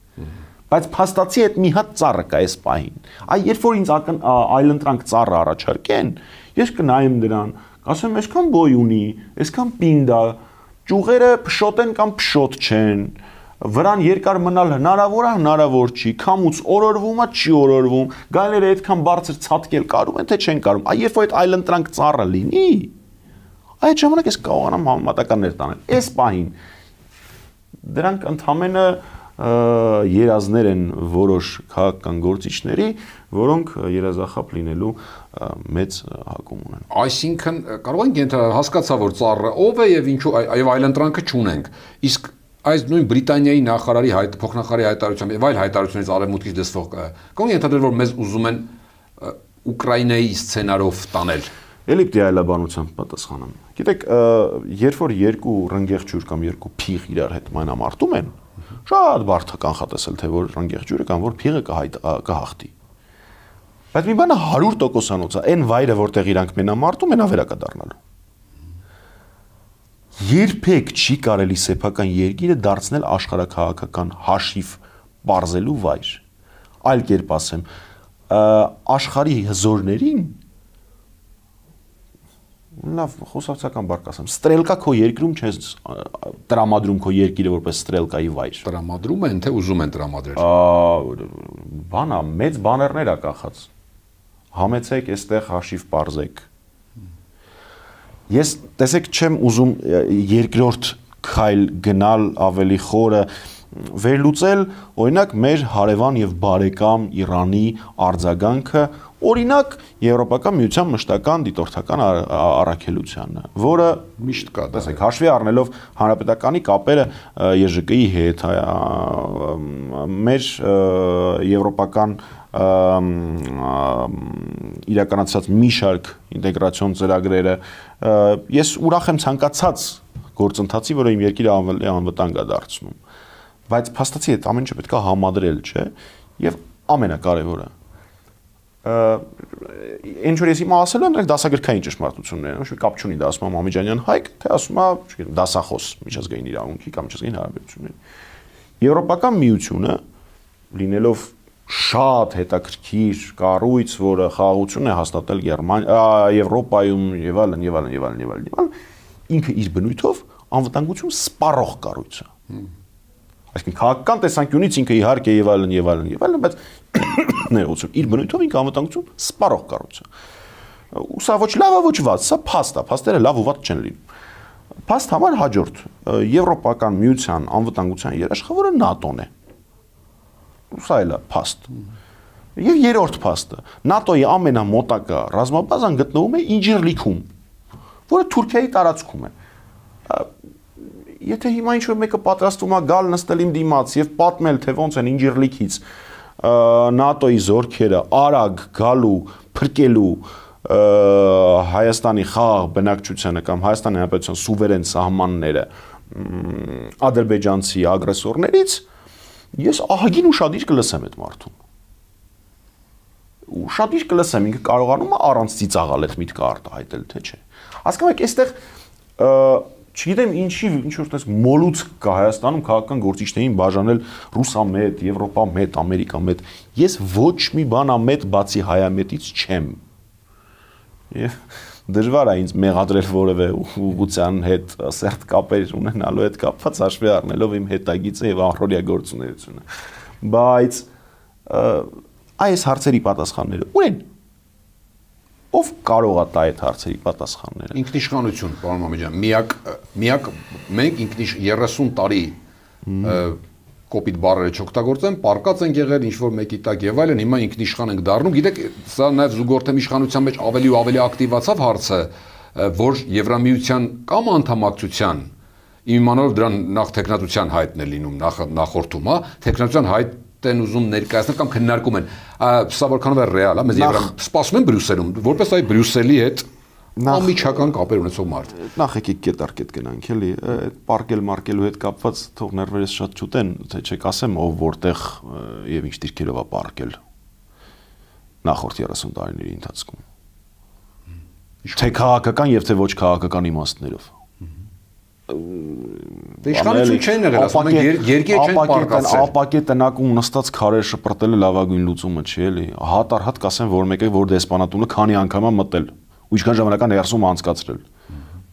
A: Բայց փաստացի այդ մի հատ ծառը կա այս պահին։ Այ երբ որ ինձ այլընտրանք ծառը առաջարկեն, ես կնայեմ դրան, ասեմ, այսքան բոյ ունի, այսքան պինդ է, ճյուղերը փշոտ են կամ փշոտ չեն, վրան երկար մնալ հնարավոր է, հնարավոր չի, քամուց օրորվում է, չի օրորվում, գայլերը այդքան բարձր ցատկել կարում են, թե չեն կարում։ Այ երբ որ այդ այլընտրանք ծառը լինի, այդ ժամանակ ես կարողանամ համեմատականներ տանել։ Այս պահին դրանք ընդհանրապես երազներ են որոշ քաղաքական գործիչների, որոնք երազախապ լինելու մեծ հակում ունեն։
B: Այսինքն կարող ենք հասկացա, որ ծառը ով է եւ ինչու եւ այլընտրանքը չունենք։ Իսկ այս նույն Բրիտանիայի նախարարի փոխնախարարի հայտարարությամբ եւ այլ հայտարարություններից արևմուտքից դեսվող կարող ենք ենթադրել, որ մեզ ուզում են Ուկրաինայի սցենարով տանել։
A: Էլի պիտի այլաբանությամբ պատասխանեմ։ Գիտեք, երբ որ երկու ռնգեղջյուր կամ երկու փիղ իրար հետ մանամարտում են, շատ բարդ է կանխատեսել, թե որ ռնգեղջյուրը կամ որ փիղը կհաղթի։ Բայց մի բանը 100%-անոց է, այն վայրը, որտեղ իրանք մենամարտում են, ավերակա դառնալու։ Երբեք չի կարելի սեփական երկիրը դարձնել աշխարհաքաղաքական հաշիվ բարձելու վայր։ Այլ կերպ ասեմ, աշխարհի հզորներին լավ խոսակցական բառ կասեմ, ստրելկա քո երկրում չես տրամադրում քո երկիրը որպես ստրելկայի վայր։
B: Տրամադրում են, թե ուզում են տրամադրել։
A: Բանա, մեծ բաներներ ա կախած։ Համեցեք, այստեղ հաշիվ բարձեք։ Ես տեսեք չեմ ուզում երկրորդ քայլ գնալ ավելի խորը վերլուծել, օրինակ մեր հարևան եւ բարեկամ Իրանի արձագանքը օրինակ Եվրոպական միության մշտական դիտորդական առաքելությանը, որը
B: միշտ կա,
A: տեսեք, հաշվի առնելով հանրապետականի կապերը ԵԺԿ-ի հետ, մեր եվրոպական իրականացած մի շարք ինտեգրացիոն ծրագրերը, ես ուրախ եմ ցանկացած գործընթացի, որը իմ երկիրը անվտանգ է դարձնում, բայց փաստացի այդ ամեն ինչը պետք է համադրել, չէ՞, եւ ամենակարևորը ինչ որ ես հիմա ասել եմ, դրանք դասագրքային ճշմարտություններ են, ոչ մի կապ չունի դա ասում Մամիջանյան Հայկ, թե ասում է, չգիտեմ, դասախոս միջազգային իրավունքի կամ միջազգային հարաբերությունների։ Եվրոպական միությունը լինելով շատ հետաքրքիր կառույց, որը խաղաղություն է հաստատել Եվրոպայում եւ այլն, ինքը իր բնույթով անվտանգություն սպառող կառույց է։ Այսինքն քաղաքական տեսանկյունից ինքը իհարկե եւ այլն, բայց ներողություն, իր բնույթով ինքը անվտանգություն սպառող կառույց է։ Ու սա ոչ լավ է, ոչ վատ, սա փաստ է, փաստերը լավ ու վատ չեն լինում։ Փաստ համար հաջորդ Եվրոպական միության անվտանգության երաշխավորը ՆԱՏՕ-ն է։ Սա էլ է փաստ։ Եվ երրորդ փաստը, ՆԱՏՕ-ի ամենամոտակա ռազմաբազան գտնվում է Ինջիրլիքում, որը Թուրքիայի տարածքում է։ Եթե հիմա ինչ-որ մեկը պատրաստվում է գալ նստել իմ դիմաց եւ պատմել, թե ոնց են Ինջիրլիքից ՆԱՏՕ-ի զորքերը արագ գալու, փրկելու Հայաստանի խաղաղ բնակչությանը կամ Հայաստանի Հանրապետության սուվերեն սահմանները ադրբեջանցի ագրեսորներից, ես ահագին ուշադիր կլսեմ այդ մարդուն։ Ուշադիր կլսեմ, ինքը կարողանում է առանց ծիծաղալ այդ միտքը արտահայտել, թե չէ։ Հասկանում եք, այստեղ չգիտեմ ինչ որ տես մոլուցք կա Հայաստանում քաղաքական գործիչներին բաժանել ռուսամետ, եվրոպամետ, ամերիկամետ։ Ես ոչ մի բանամետ բացի հայամետից չեմ։ Եվ դժվար է ինձ մեղադրել որևէ ուղղության հետ սերտ կապեր ունենալու հետ կապված հաշվի առնելով իմ հետագիծը եւ առօրյա գործունեությունը։ Բայց այս հարցերի պատասխանները ունեն։ ով կարող է տա այդ հարցերի պատասխանները։
B: Ինքնիշխանություն, պարոն Մամեջյան, միակ մենք 30 տարի կոպիտ բառերը չօգտագործեմ, պարկած են եղել ինչ-որ մեկի տակ եւ այլն, հիմա ինքնիշխան ենք դառնում։ Գիտեք, սա նաեւ զուգորդեմ իշխանության մեջ ավելի ու ավելի ակտիվացավ հարցը, որ Եվրամիության կամ անդամակցության իմանալով դրան նախ տեխնատության հայտն է լինում նախորդում, հա, տեխնատության հայտ են ուզում ներկայացնել կամ քննարկում են։ Սա որքանով է ռեալ, հա, մեզ սպասում են Բրյուսելում, որպես այ Բրյուսելի հետ անմիջական կապեր ունեցող մարդ։
A: Նախ եկեք կետարկետ գնանք, էլի, այդ պարկել մարկելու հետ կապված թող ներվերս շատ չուտեն, թե չեք ասեմ ով որտեղ եւ ինչ դիրքերով է պարկել նախորդ 30 տարիների ընթացքում։ Թե քաղաքական եւ թե ոչ քաղաքական իմաստներով։
B: Դե իշխանություն չեն եղել, ասում են երկիր չեն պարկացել։
A: Ապակե տնակում նստած քարեր շպրտելը լավագույն լուծումը չի, էլի։ Հատ կասեմ, որ մեկը որ դեսպանատունը քանի անգամ է մտել ու ինչքան ժամանական ներսում անցկացրել։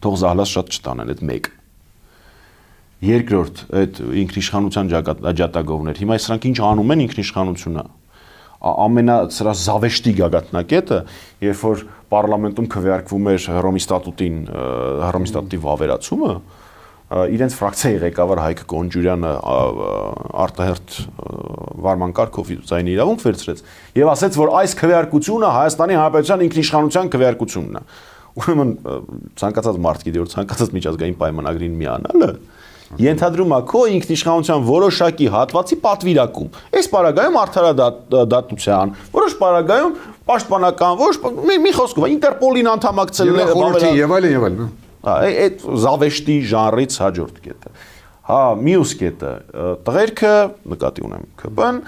A: Թող զահլաս շատ չտանեն այդ մեկ։ Երկրորդ, այդ ինքնիշխանության ջատագովներ։ Հիմա սրանք ինչ անում են ինքնիշխանությունը։ Ամենազավեշտի գագաթնակետը, երբ որ պարլամենտում քվեարկվում էր Հռոմի ստատուտի վավերացումը, իրենց ֆրակցիայի ղեկավար Հայկ Կոնջուրյանը արտահերթ վարման կարգով ձայնի իրավունք վերցրեց եւ ասաց, որ այս քվեարկությունը Հայաստանի Հանրապետության ինքնիշխանության քվեարկությունն է։ Ուրեմն ցանկացած մարդ գիտի, որ ցանկացած միջազգային պայմանագրին միանալը ենթադրում է քո ինքնիշխանության որոշակի հատվածի պատվիրակում։ Այս պարագայում արդարադատության, որոշ պարագայում պաշտպանական, որոշ մի խոսքով Ինտերպոլին անդամակցելն է
B: եւ այլն։
A: Այդ զավեշտի ժանրից հաջորդ կետը։ Հա, մյուս կետը, տղերքը, նկատի ունեմ ԿՊ-ն,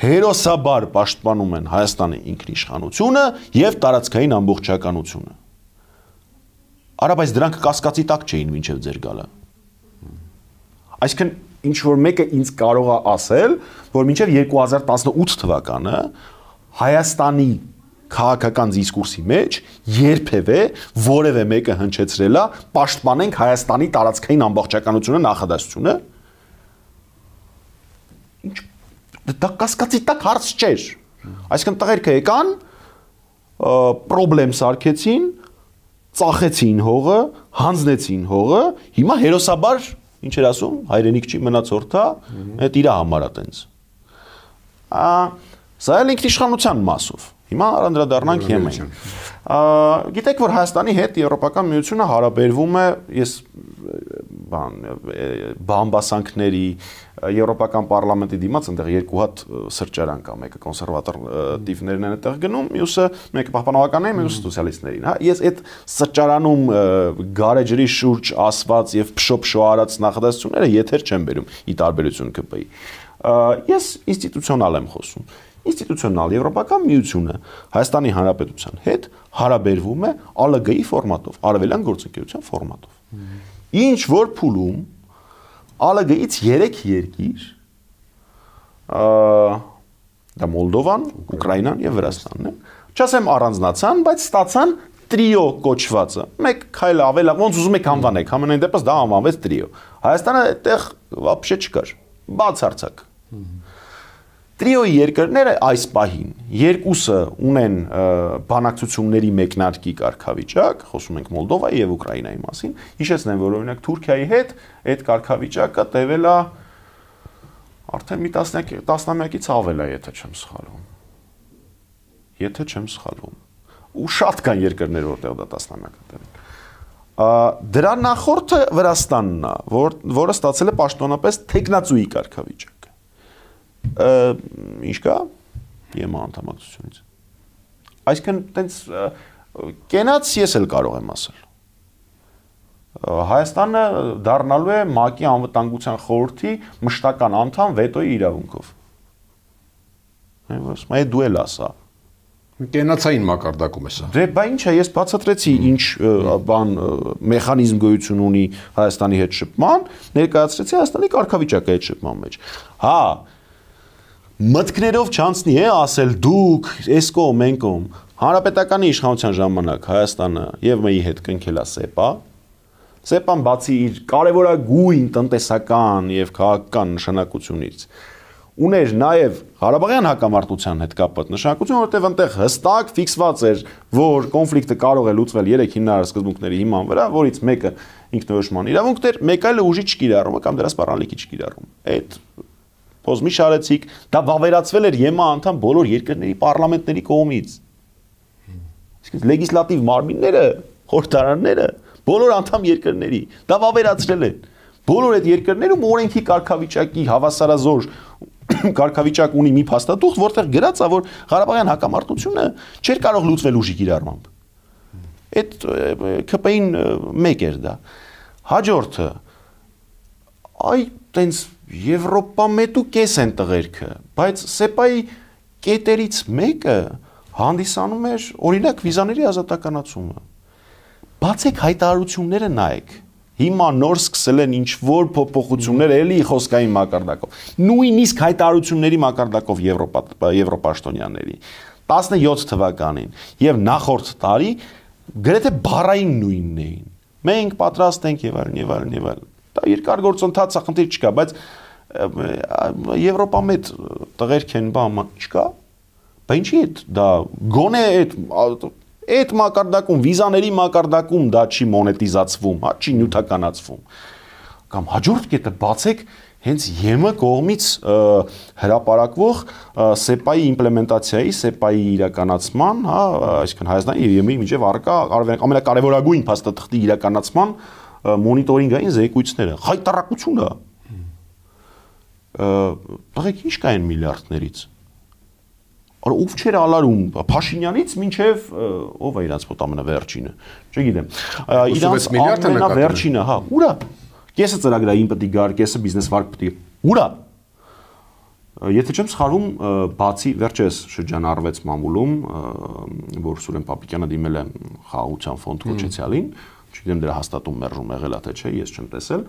A: հերոսաբար պաշտպանում են Հայաստանի ինքնիշխանությունը եւ տարածքային ամբողջականությունը։ Արա, բայց դրանք կասկածի տակ չէին մինչեւ ձեր գալը։ Այսինքն ինչ որ մեկը ինձ կարող է ասել, որ մինչև 2018 թվականը Հայաստանի քաղաքական դիսկուրսի մեջ երբևէ որևէ մեկը հնչեցրել է պաշտպանենք Հայաստանի տարածքային ամբողջականությունը նախադասությունը։ Ինչ դա կասկածի տակ հարց չէր։ Այսինքն տղերքը եկան, պրոբլեմ սարքեցին, ծախեցին հողը, հանձնեցին հողը, հիմա հերոսաբար ինչ էր ասում, հայրենիք չի մնացորդա, այդ իրա համար է տենց։ Սա էլ ինքնիշխանության մասով։ Հիմա անդրադառնանք Եմենին։ Գիտեք, որ Հայաստանի հետ Եվրոպական միությունը հարաբերվում է, ես բամբասանքների Եվրոպական պարլամենտի դիմաց այնտեղ երկու հատ սրճարան կա, մեկը կոնսերվատիվներն են այդտեղ գնում, մյուսը մեկը պահպանողականներին, մյուսը սոցիալիստներին, հա։ Ես այդ սրճարանում գարեջրի շուրջ ասված եւ փշոփշո արած նախադասությունները եթեր չեմ բերում՝ ի տարբերություն ԿՊ-ի։ Ես ինստիտուցիոնալ եմ խոսում։ Ինստիտուցիոնալ Եվրոպական միությունը Հայաստանի Հանրապետության հետ հարաբերվում է ԱԼԳ-ի ֆորմատով, արևելյան գործընկերության ֆորմատով։ Ինչ որ փուլում ԱԼԳ-ից 3 երկիր, դա Մոլդովան, Ուկրաինան եւ Վրաստանն են, չասեմ առանձնացան, բայց ստացան տրիո կոչվածը։ Մեկ քայլ ավել, ոնց ուզում եք անվանեք, ամենայն դեպս դա անվանվեց տրիո։ Հայաստանը այդտեղ вообще չկար, բացարձակ։ Տրիոյի երկրները այս պահին երկուսը ունեն բանակցությունների մեկնարկի կարգավիճակ, խոսում ենք Մոլդովայի եւ Ուկրաինայի մասին, հիշեցնեմ, որ օրինակ Թուրքիայի հետ այդ կարգավիճակը տևել է արդեն մի տասնամյակից ավել է, եթե չեմ սխալվում։ Ու շատ կան երկրներ, որտեղ դա տասնամյակ է տևել։ Դրա նախորդը Վրաստանն է, որը ստացել է պաշտոնապես թեկնածուի կարգավիճակ։ Ինչ կա ԵՄ անդամակցությունից։ Այսինքն տենց կենաց ես էլ կարող եմ ասել։ Հայաստանը դառնալու է ՄԱԿ-ի անվտանգության խորհրդի մշտական անդամ վետոյի իրավունքով։ Այդ դու էլ ասա։
B: Կենացային մակարդակում է սա։
A: Դե բա ինչ է, ես բացատրեցի ինչ բան մեխանիզմ գոյություն ունի Հայաստանի հետ շփման, ներկայացրեցի Հայաստանի կարգավիճակը այդ շփման մեջ։ Հա, մտքներով չանցնի է ասել դուք, էսկոմ, մենկոմ, հանրապետականի իշխանության ժամանակ Հայաստանը եւ ՄԷ-ի հետ կնքել է ՍԵՊԱ։ ՍԵՊԱ-ն բացի իր կարևորագույն տնտեսական եւ քաղաքական նշանակությունից ուներ նաև Ղարաբաղյան հակամարտության հետ կապված նշանակություն, որովհետև այնտեղ հստակ ֆիքսված էր, որ կոնֆլիկտը կարող է լուծվել 3 հիմնարար սկզբունքների հիման վրա, որից մեկը ինքնորոշման իրավունքն էր, մեկը այլը ուժի չկիրառումը կամ դրա սպառնալիքի չկիրառումը։ Այդ փոզմի շարեցիք, դա վավերացվել էր ԵՄ անդամ բոլոր երկրների պարլամենտների կողմից։ Իսկ լեգիսլատիվ մարմինները, խորհրդարանները, բոլոր անդամ երկրների դա վավերացրել են։ Բոլոր այդ երկրներում օրենքի կարգավիճակի հավասարազոր կարգավիճակ ունի մի փաստաթուղթ, որտեղ գրած է, որ Ղարաբաղյան հակամարտությունը չէր կարող լուծվել ուժի կիրառմամբ։ Այդ ԿՊ-ին մեկ էր դա։ Հաջորդը այ տենց Եվրոպամետու կես են տղերքը, բայց ՍԵՊԱ-ի կետերից մեկը հանդիսանում էր օրինակ վիզաների ազատականացումը։ Բացեք հայտարարությունները նայեք։ Հիմա նոր սկսել են ինչ-որ փոփոխություններ էլի խոսքային մակարդակով։ Նույնիսկ հայտարարությունների մակարդակով եվրոպաշտոնյաների 17 թվականին եւ նախորդ տարի գրեթե բառային նույնն էին։ Մենք պատրաստ ենք եւ այլն եւ այլն եւ այլն։ Դա երկար գործընթաց է, խնդիր չկա, բայց Եվրոպամետ տղերք են, բան չկա։ Բա ինչի՞ է դա գոնե այդ մակարդակում վիզաների մակարդակում դա չի մոնետիզացվում, հա, չի նյութականացվում։ Կամ հաջորդ կետը բացեք հենց ԵՄ կողմից հրապարակվող ՍԵՊԱ-ի իմպլեմենտացիայի, ՍԵՊԱ-ի իրականացման, հա, այսինքն Հայաստանի եւ ԵՄ-ի միջև առկա ամենակարևորագույն փաստաթղթի իրականացման մոնիտորինգային զեկույցները, խայտարակությունը։ Տղեկ ինչ կային միլիարդներից։ Ով չէր ալարում Փաշինյանից մինչև ով է իրանց մոտ ամենավերջինը, չգիտեմ։ Իրանց ամենավերջինը, հա, ուրա։ Կեսը ծրագրային պետք է գար, կեսը բիզնես վարկ պետք է։ Ուրա։ Եթե չեմ սխալվում, բացի վերջերս շրջանառվեց մամուլում, որ Սուրեն Պապիկյանը դիմել է խաղաղության ֆոնդ կոչեցյալին, չգիտեմ դրա հաստատում մերժում եղել է թե չէ, ես չեմ տեսել,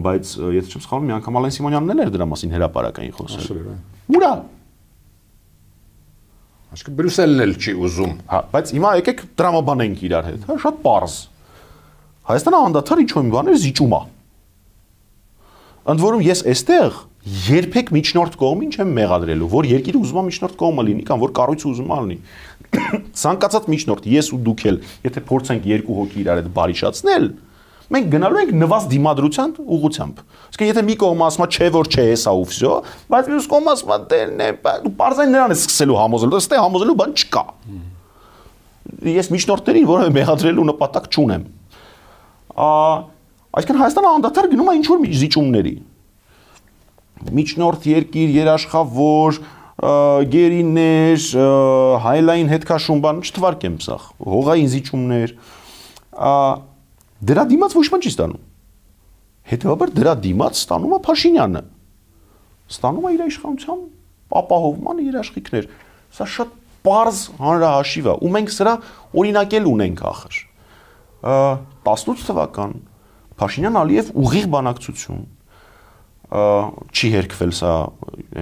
A: բայց եթե չեմ սխալվում, մի անգամ Ալեն Սիմոնյանն էլ էր դրա մասին հրապարակային խոսել։ Ուրա։
B: Այսինքն Բրյուսելն էլ չի ուզում։
A: Հա, բայց հիմա եկեք դրամաբանենք իրար հետ, հա, շատ պարզ։ Հայաստանը անդադար ինչ-որ մի բաներ զիջում է։ Ընդ որում ես այստեղ երբեք միջնորդ կողմին չեմ մեղադրելու, որ երկիրը ուզում է միջնորդ կողմը լինի կամ որ կառույցը ուզում է լինի։ Ցանկացած միջնորդ, ես ու դուք էլ, եթե փորձենք երկու հոգի իրար հետ բարիշացնել, մենք գնալու ենք նվազ դիմադրության ուղղությամբ։ Իսկ եթե մի կողմը ասում է չէ որ չէ, հեսա ու վсё, բայց մյուս կողմը ասում է դե դու parzain նրան է սկսելու համոզելու, ըստ է համոզելու բան չկա։ Ես միջնորդներին որևէ մեղադրելու նպատակ չունեմ։ Այսինքն Հայաստանը անդադար գնում է ինչ-որ զիջումների։ Միջնորդ երկիր, երաշխավոր, գերիներ, հայլային հետքաշուն բան չթվարկեմ սա, հողային զիջումներ։ Դրա դիմաց ոչ մի չի ստանում։ Հետևաբար դրա դիմաց ստանում է Փաշինյանը։ Ստանում է իր իշխանության ապահովման երաշխիքներ։ Սա շատ պարզ հանրահաշիվ է, ու մենք սրա օրինակել ունենք ախր։ 18 թվական Փաշինյան-Ալիև ուղիղ բանակցություն չի հերքվել սա,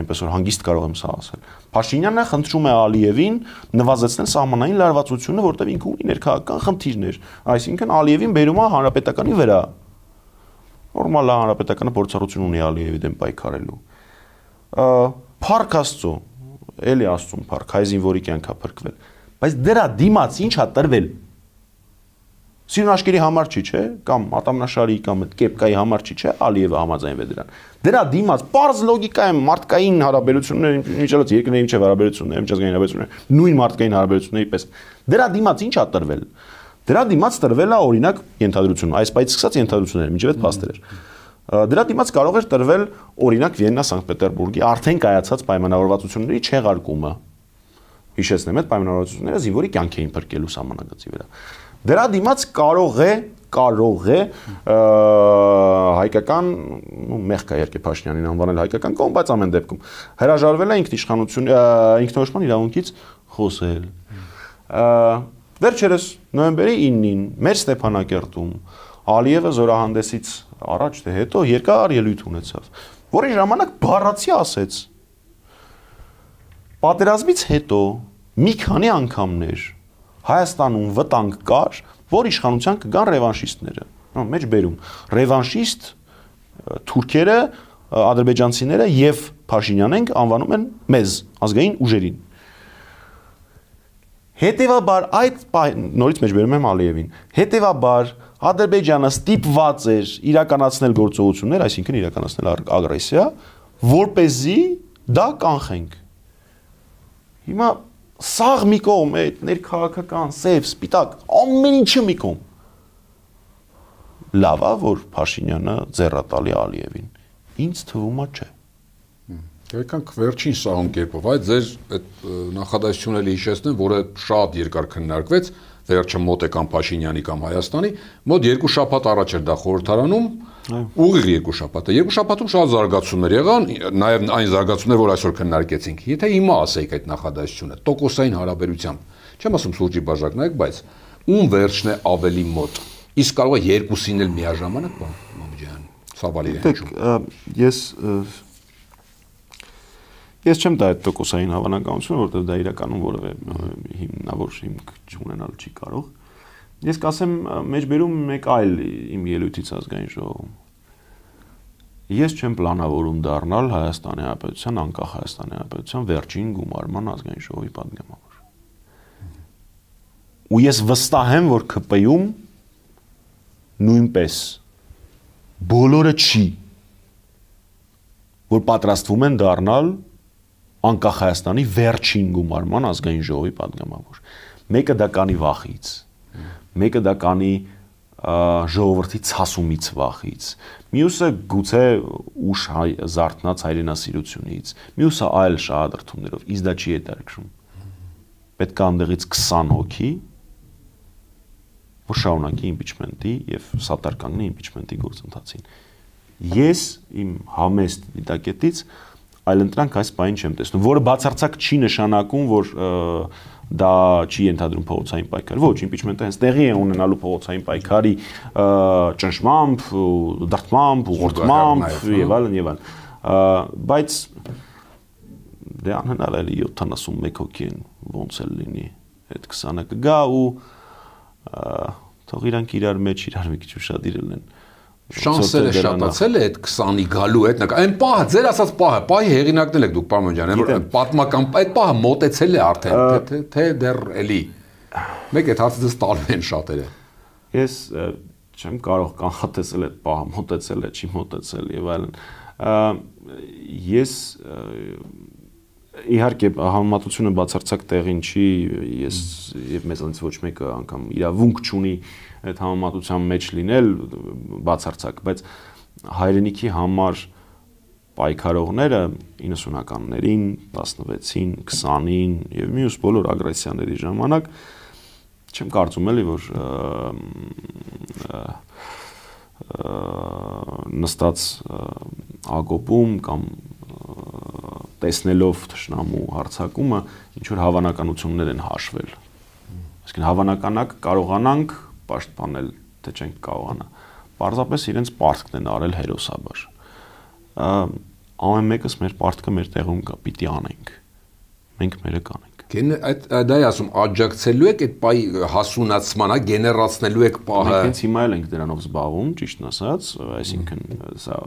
A: այնպես որ հանգիստ կարող եմ սա ասել։ Փաշինյանը խնդրում է Ալիևին նվազեցնել սահմանային լարվածությունը, որտեղ ինքը ունի ներքաղաքական խնդիրներ, այսինքն Ալիևին բերում է հանրապետականի վրա։ Նորմալ է, հանրապետականը փորձառություն ունի Ալիևի դեմ պայքարելու։ Փառք Աստծո, էլի Աստծուն փառք, հայ զինվորի կյանք է փրկվել, բայց դրա դիմաց ինչ է տրվել։ Սիրուն համար չի, չէ, կամ ատամնաշարի կամ կեպկայի համար չի, չէ, Ալիևը համաձայնվել դրան։ Դրա դիմաց պարզ լոգիկա է մարդկային հարաբերություններ, միջելոց երկրների միջև հարաբերություններ, միջազգային հարաբերություններ, նույն մարդկային հարաբերությունների պես։ Դրա դիմաց ինչ է տրվել։ Դրա դիմաց տրվել է օրինակ ենթադրություն, այս պայից սկսած ենթադրությունները, միջև այդ փաստեր էր։ Դրա դիմաց կարող էր տրվել օրինակ Վիեննա-Սանկտ-Պետերբուրգի արդեն կայացած պայմանավորվածությունների չեղարկումը։ Հիշեցնեմ, այդ պայմանավորվածությունները զինվորի կյանք էին փրկելու սահմանագծի վրա։ Դրա դիմաց կարող է հայկական, մեղք է երկե Փաշինյանին անվանել հայկական կողմ, բայց ամեն դեպքում հրաժարվել է ինքնորոշման իրավունքից խոսել։ Վերջերս նոյեմբերի 9-ին մեր Ստեփանակերտում Ալիևը զորահանդեսից առաջ թե հետո երկար ելույթ ունեցավ, որի ժամանակ բառացի ասեց. պատերազմից հետո մի քանի անգամներ Հայաստանում վտանգ կար, որ իշխանության կգան ռևանշիստները։ Մեջ բերում ռևանշիստ թուրքերը, ադրբեջանցիները եւ Փաշինյան ենք, անվանում են մեզ, ազգային ուժերին։ Հետևաբար նորից մեջբերում եմ Ալիևին, հետևաբար Ադրբեջանը ստիպված էր իրականացնել գործողություններ, այսինքն իրականացնել ագրեսիա, որպեսզի դա կանխենք։ Հիմա սաղ մի կողմ, այդ ներքաղաքական, սև, սպիտակ, ամեն ինչը մի կողմ։ Լավ է, որ Փաշինյանը ձեռատալի Ալիևին։ Ինձ թվում է չէ։
B: Եկանք վերջին սահուն կերպով, այդ ձեր այդ նախադասությունը հիշեցնեմ, որը շատ երկար քննարկվեց, վերջը մոտ եկան Փաշինյանի կամ Հայաստանի, մոտ 2 շաբաթ առաջ էր դա խորհրդարանում, ուղիղ 2 շաբաթ է։ 2 շաբաթում շատ զարգացումներ եղան, նաև այն զարգացումներ, որ այսօր քննարկեցինք։ Եթե հիմա ասեիք այդ նախադասությունը, տոկոսային հարաբերությամբ, չեմ ասում սուրճի բաժակնայեք, բայց ում վերջն է ավելի մոտ։ Իսկ կարող է երկուսին էլ միաժամանակ, Մամջյան, Սավալի
A: հնչում։ Ես չեմ տա այդ տոկոսային հավանականությունը, որովհետև դա իրականում որևէ հիմնավոր հիմք չունենալ չի կարող։ Ես կասեմ մեջբերում մեկ այլ իմ ելույթից ազգային ժողովում։ Ես չեմ պլանավորում դառնալ Հայաստանի Հանրապետության, անկախ Հայաստանի Հանրապետության վերջին գումարման ազգային ժողովի պատգամավոր։ Ու ես վստահ եմ, որ ՔՊ-ում նույնպես բոլորը չի, որ պատրաստվում են դառնալ անկախ Հայաստանի վերջին գումարման ազգային ժողովի պատգամավոր։ Մեկը դա կանի վախից, մեկը դա կանի ժողովրդի ցասումից վախից, մյուսը գուցե ուշ զարթնած հայրենասիրությունից, մյուսը այլ շահադրթումներով, ինձ դա չի հետաքրքրում։ Պետք է անդեղից 20 հոգի, որ շարունակի իմպիչմենտի եւ սատար կանգնի իմպիչմենտի գործընթացին։ Ես իմ համեստ դիտակետից այլընտրանք այս բանին չեմ տեսնում, որը բացարձակ չի նշանակում, որ դա չի ենթադրում փողոցային պայքար։ Ոչ, իմպիչմենտը հենց տեղի է ունենալու փողոցային պայքարի ճնշմամբ, դրդմամբ, ուղղորդմամբ եւ այլն եւ այլն։ Բայց դե անհնար է 71 հոգի են ոնց էլ լինի, այդ 20-ը կգա ու թող իրանք իրար մեջ իրար մի քիչ ուշադիր լինեն։
B: Շանսերը շատացել է այդ 20-ի գալու հետ, այն պահը, ձեր ասած պահի հեղինակն եք դուք պարոն ջան, որ պատմական այդ պահը մոտեցել է արդեն, թե դեռ էլի։ Մեկ այդ հարցը դες տալու են շատերը։
A: Ես չեմ կարող կանխատեսել այդ պահը մոտեցել է, չի մոտեցել եւ այլն։ Ես իհարկե համեմատությունը բացարձակ տեղին չի, ես եւ մեզանից ոչ մեկը անգամ իրավունք չունի այդ համեմատության մեջ լինել բացարձակ, բայց հայրենիքի համար պայքարողները 90-ականներին, 16-ին, 20-ին եւ մյուս բոլոր ագրեսիաների ժամանակ չեմ կարծում էլի որ նստած ագոպում կամ տեսնելով թշնամու հարձակումը ինչ որ հավանականություններ են հաշվել։ Այսինքն հավանականակ կարողանանք պաշտպանել, թե չենք կարողանա։ Պարզապես իրենց պարտքն են արել հերոսաբար։ Ամեն մեկս մեր պարտքը մեր տեղում կա, պիտի անենք։ Մենք մերը կանենք։
B: Դա է ասում, աջակցելու եք այդ պահի հասունացմանը, գեներացնելու եք պահը։
A: Մենք հենց հիմա էլ ենք դրանով զբաղվում, ճիշտն ասած, այսինքն սա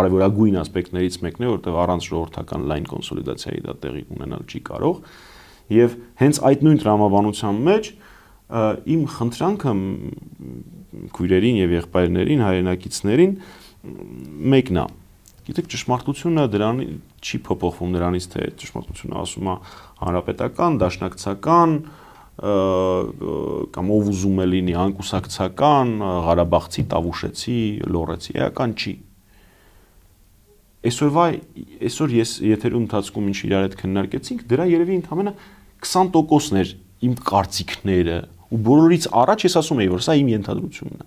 A: արևորագույն ասպեկտներից մեկն է, որտեղ առանց ժողովրդական լայն կոնսոլիդացիայի դա տեղի ունենալ չի կարող։ Եվ հենց այդ նույն տրամաբանության մեջ իմ խնդրանքը քույրերին եւ եղբայրներին, հայրենակիցներին մեկն է։ Գիտեք, ճշմարտությունը դրան չի փոփոխվում նրանից, թե ճշմարտությունը ասում է հանրապետական, դաշնակցական կամ ով ուզում է լինի անկուսակցական, Ղարաբաղցի, Տավուշեցի, Լոռեցի, էական չի։ Այսօր ես եթերում ընթացքում ինչ իրար հետ քննարկեցինք, դրա երևի ընդամենը 20%-ն էր իմ կարծիքները, ու բոլորից առաջ ես ասում էի, որ սա իմ ենթադրությունն է։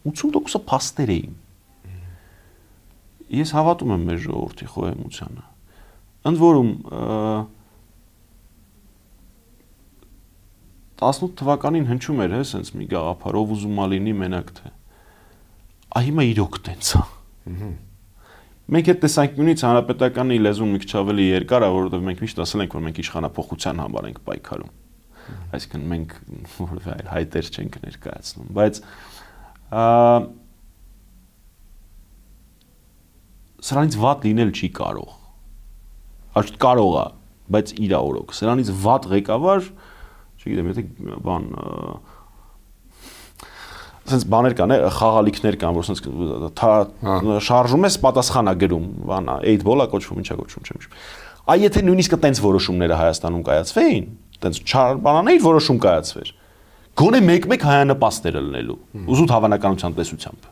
A: 80%-ը փաստեր էին։ Ես հավատում եմ մեր ժողովրդի խոհեմությանը։ Ընդ որում 18 թվականին հնչում էր, սենց մի գաղափար, ով ուզում է լինի մենակ թե։ Հիմա իրոք տենց է։ Մենք այդ տեսանկյունից հանրապետականի լեզուն մի քիչ ավելի երկար է, որովհետև մենք միշտ ասել ենք, որ մենք իշխանափոխության համար ենք պայքարում։ Այսինքն մենք որևէ այլ հայտեր չենք ներկայացնում, բայց սրանից վատ լինել չի կարող։ Ոչ կարող է, բայց իր օրոք։ Սրանից վատ ղեկավար, չգիտեմ, եթե բան sense բաներ կան, խաղալիքներ կան, որ sense շարժում ես, պատասխանա գրում, բան, 8 ball-ա կոչվում, ինչա կոչվում, չեմ հիշում։ Այ եթե նույնիսկ տենց որոշումները Հայաստանում կայացվեին, տենց բանաներ որոշում կայացվեր, գոնե մեկ-մեկ հայանպաստերը լինելու, ուզուտ հավանականության տեսությամբ։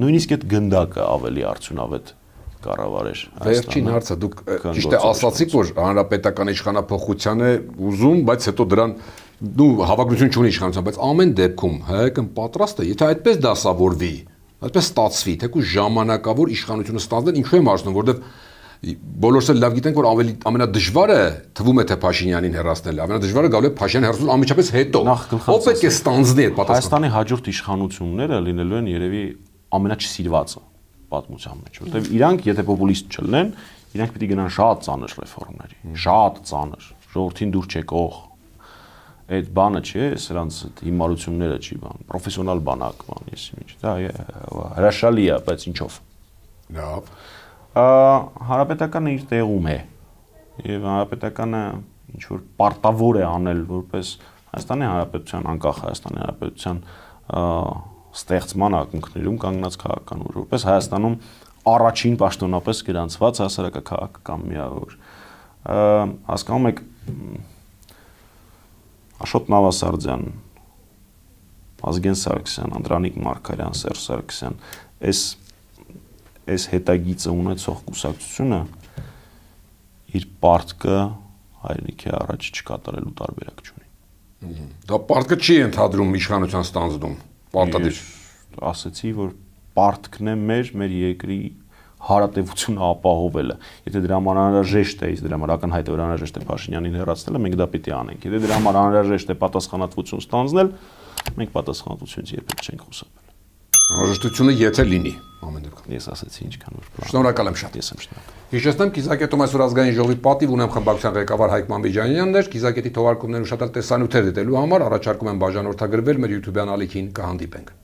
A: Նույնիսկ այդ գնդակը ավելի արդյունավետ կառավարեր։
B: Վերջին հարցը դուք ճիշտ է ասացիք, որ հանրապետական իշխանապողության է ուզում, բայց հետո դրան դու հավակնություն չունի իշխանության, բայց ամեն դեպքում հայկական պատրաստ է, եթե այդպես դասավորվի, այդպես ստացվի, թեկուզ ժամանակավոր իշխանությունը ստանալ, ինչու եմ ասում, որովհետև բոլորս էլ լավ գիտենք, որ ամենադժվարը թվում է թե Փաշինյանին հեռացնելը, ամենադժվարը գալու է Փաշինյանին հեռացնել անմիջապես հետո։ Ո՞վ պետք է ստանձնի այդ պատասխանը։
A: Հայաստանի հաջորդ իշխանությունները լինելու են երևի ամենաչսիրվածը պատմության մեջ, որտեղ իրանք եթե պոպուլիստ չլինեն, իրանք պիտի գնան շատ ծանր ռեֆորմների, շատ ծանր, ժողովրդին դուր չեկող այդ բանը չի, սրանց հիմարությունները չի բան, պրոֆեսիոնալ բանակ բան, եսի ինչ, դա հրաշալի է, բայց ինչով։
B: Լավ։
A: Հանրապետականը իր տեղում է, եւ հանրապետականը ինչ որ պարտավոր է անել որպես Հայաստանի Հանրապետության, անկախ Հայաստանի Հանրապետության ստեղծման ակունքներում կանգնած քաղաքական ուժ, որպես Հայաստանում առաջին պաշտոնապես գրանցված հասարակաքաղաքական միավոր։ Հասկանում եք Աշոտ Նավասարդյան, Ազգեն Սարգսյան, Անդրանիկ Մարգարյան, Սերժ Սարգսյան, այս հետագիծը ունեցող կուսակցությունը իր պարտքը հայրենիքի առաջ չկատարելու տարբերակ չունի։
B: Դա պարտքը չի ընդհանրում իշխանության ստանձնում։ Պարտադիր
A: ասացի, որ պարտքն է մեր երկրի հարատևությունը ապահովելը։ Եթե դրա համար անհրաժեշտ է, իսկ դրա համար ակնհայտ է որ անհրաժեշտ է Փաշինյանին հեռացնելը, մենք դա պիտի անենք։ Եթե դրա համար անհրաժեշտ է պատասխանատվություն ստանձնել, մենք պատասխանատվությունից երբեք չենք խուսափել։
B: Անհրաժեշտությունը եթե լինի, ամեն դեպքում։
A: Ես ասացի ինչքան որ բան։
B: Շնորհակալ եմ շատ։
A: Ես եմ շնորհակալ։
B: Հիշեցնեմ, Կիզակետում այսօր ազգային ժողովի պատիվ ունեմ խմբակցության ղեկավար Հայկ Մամեջանյանն էր, Կիզակետի թողարկումներն ուշադրել տեսանյութեր դիտելու համար առաջարկում եմ բաժանորդագրվել մեր YouTube-յան ալիքին, կհանդիպենք։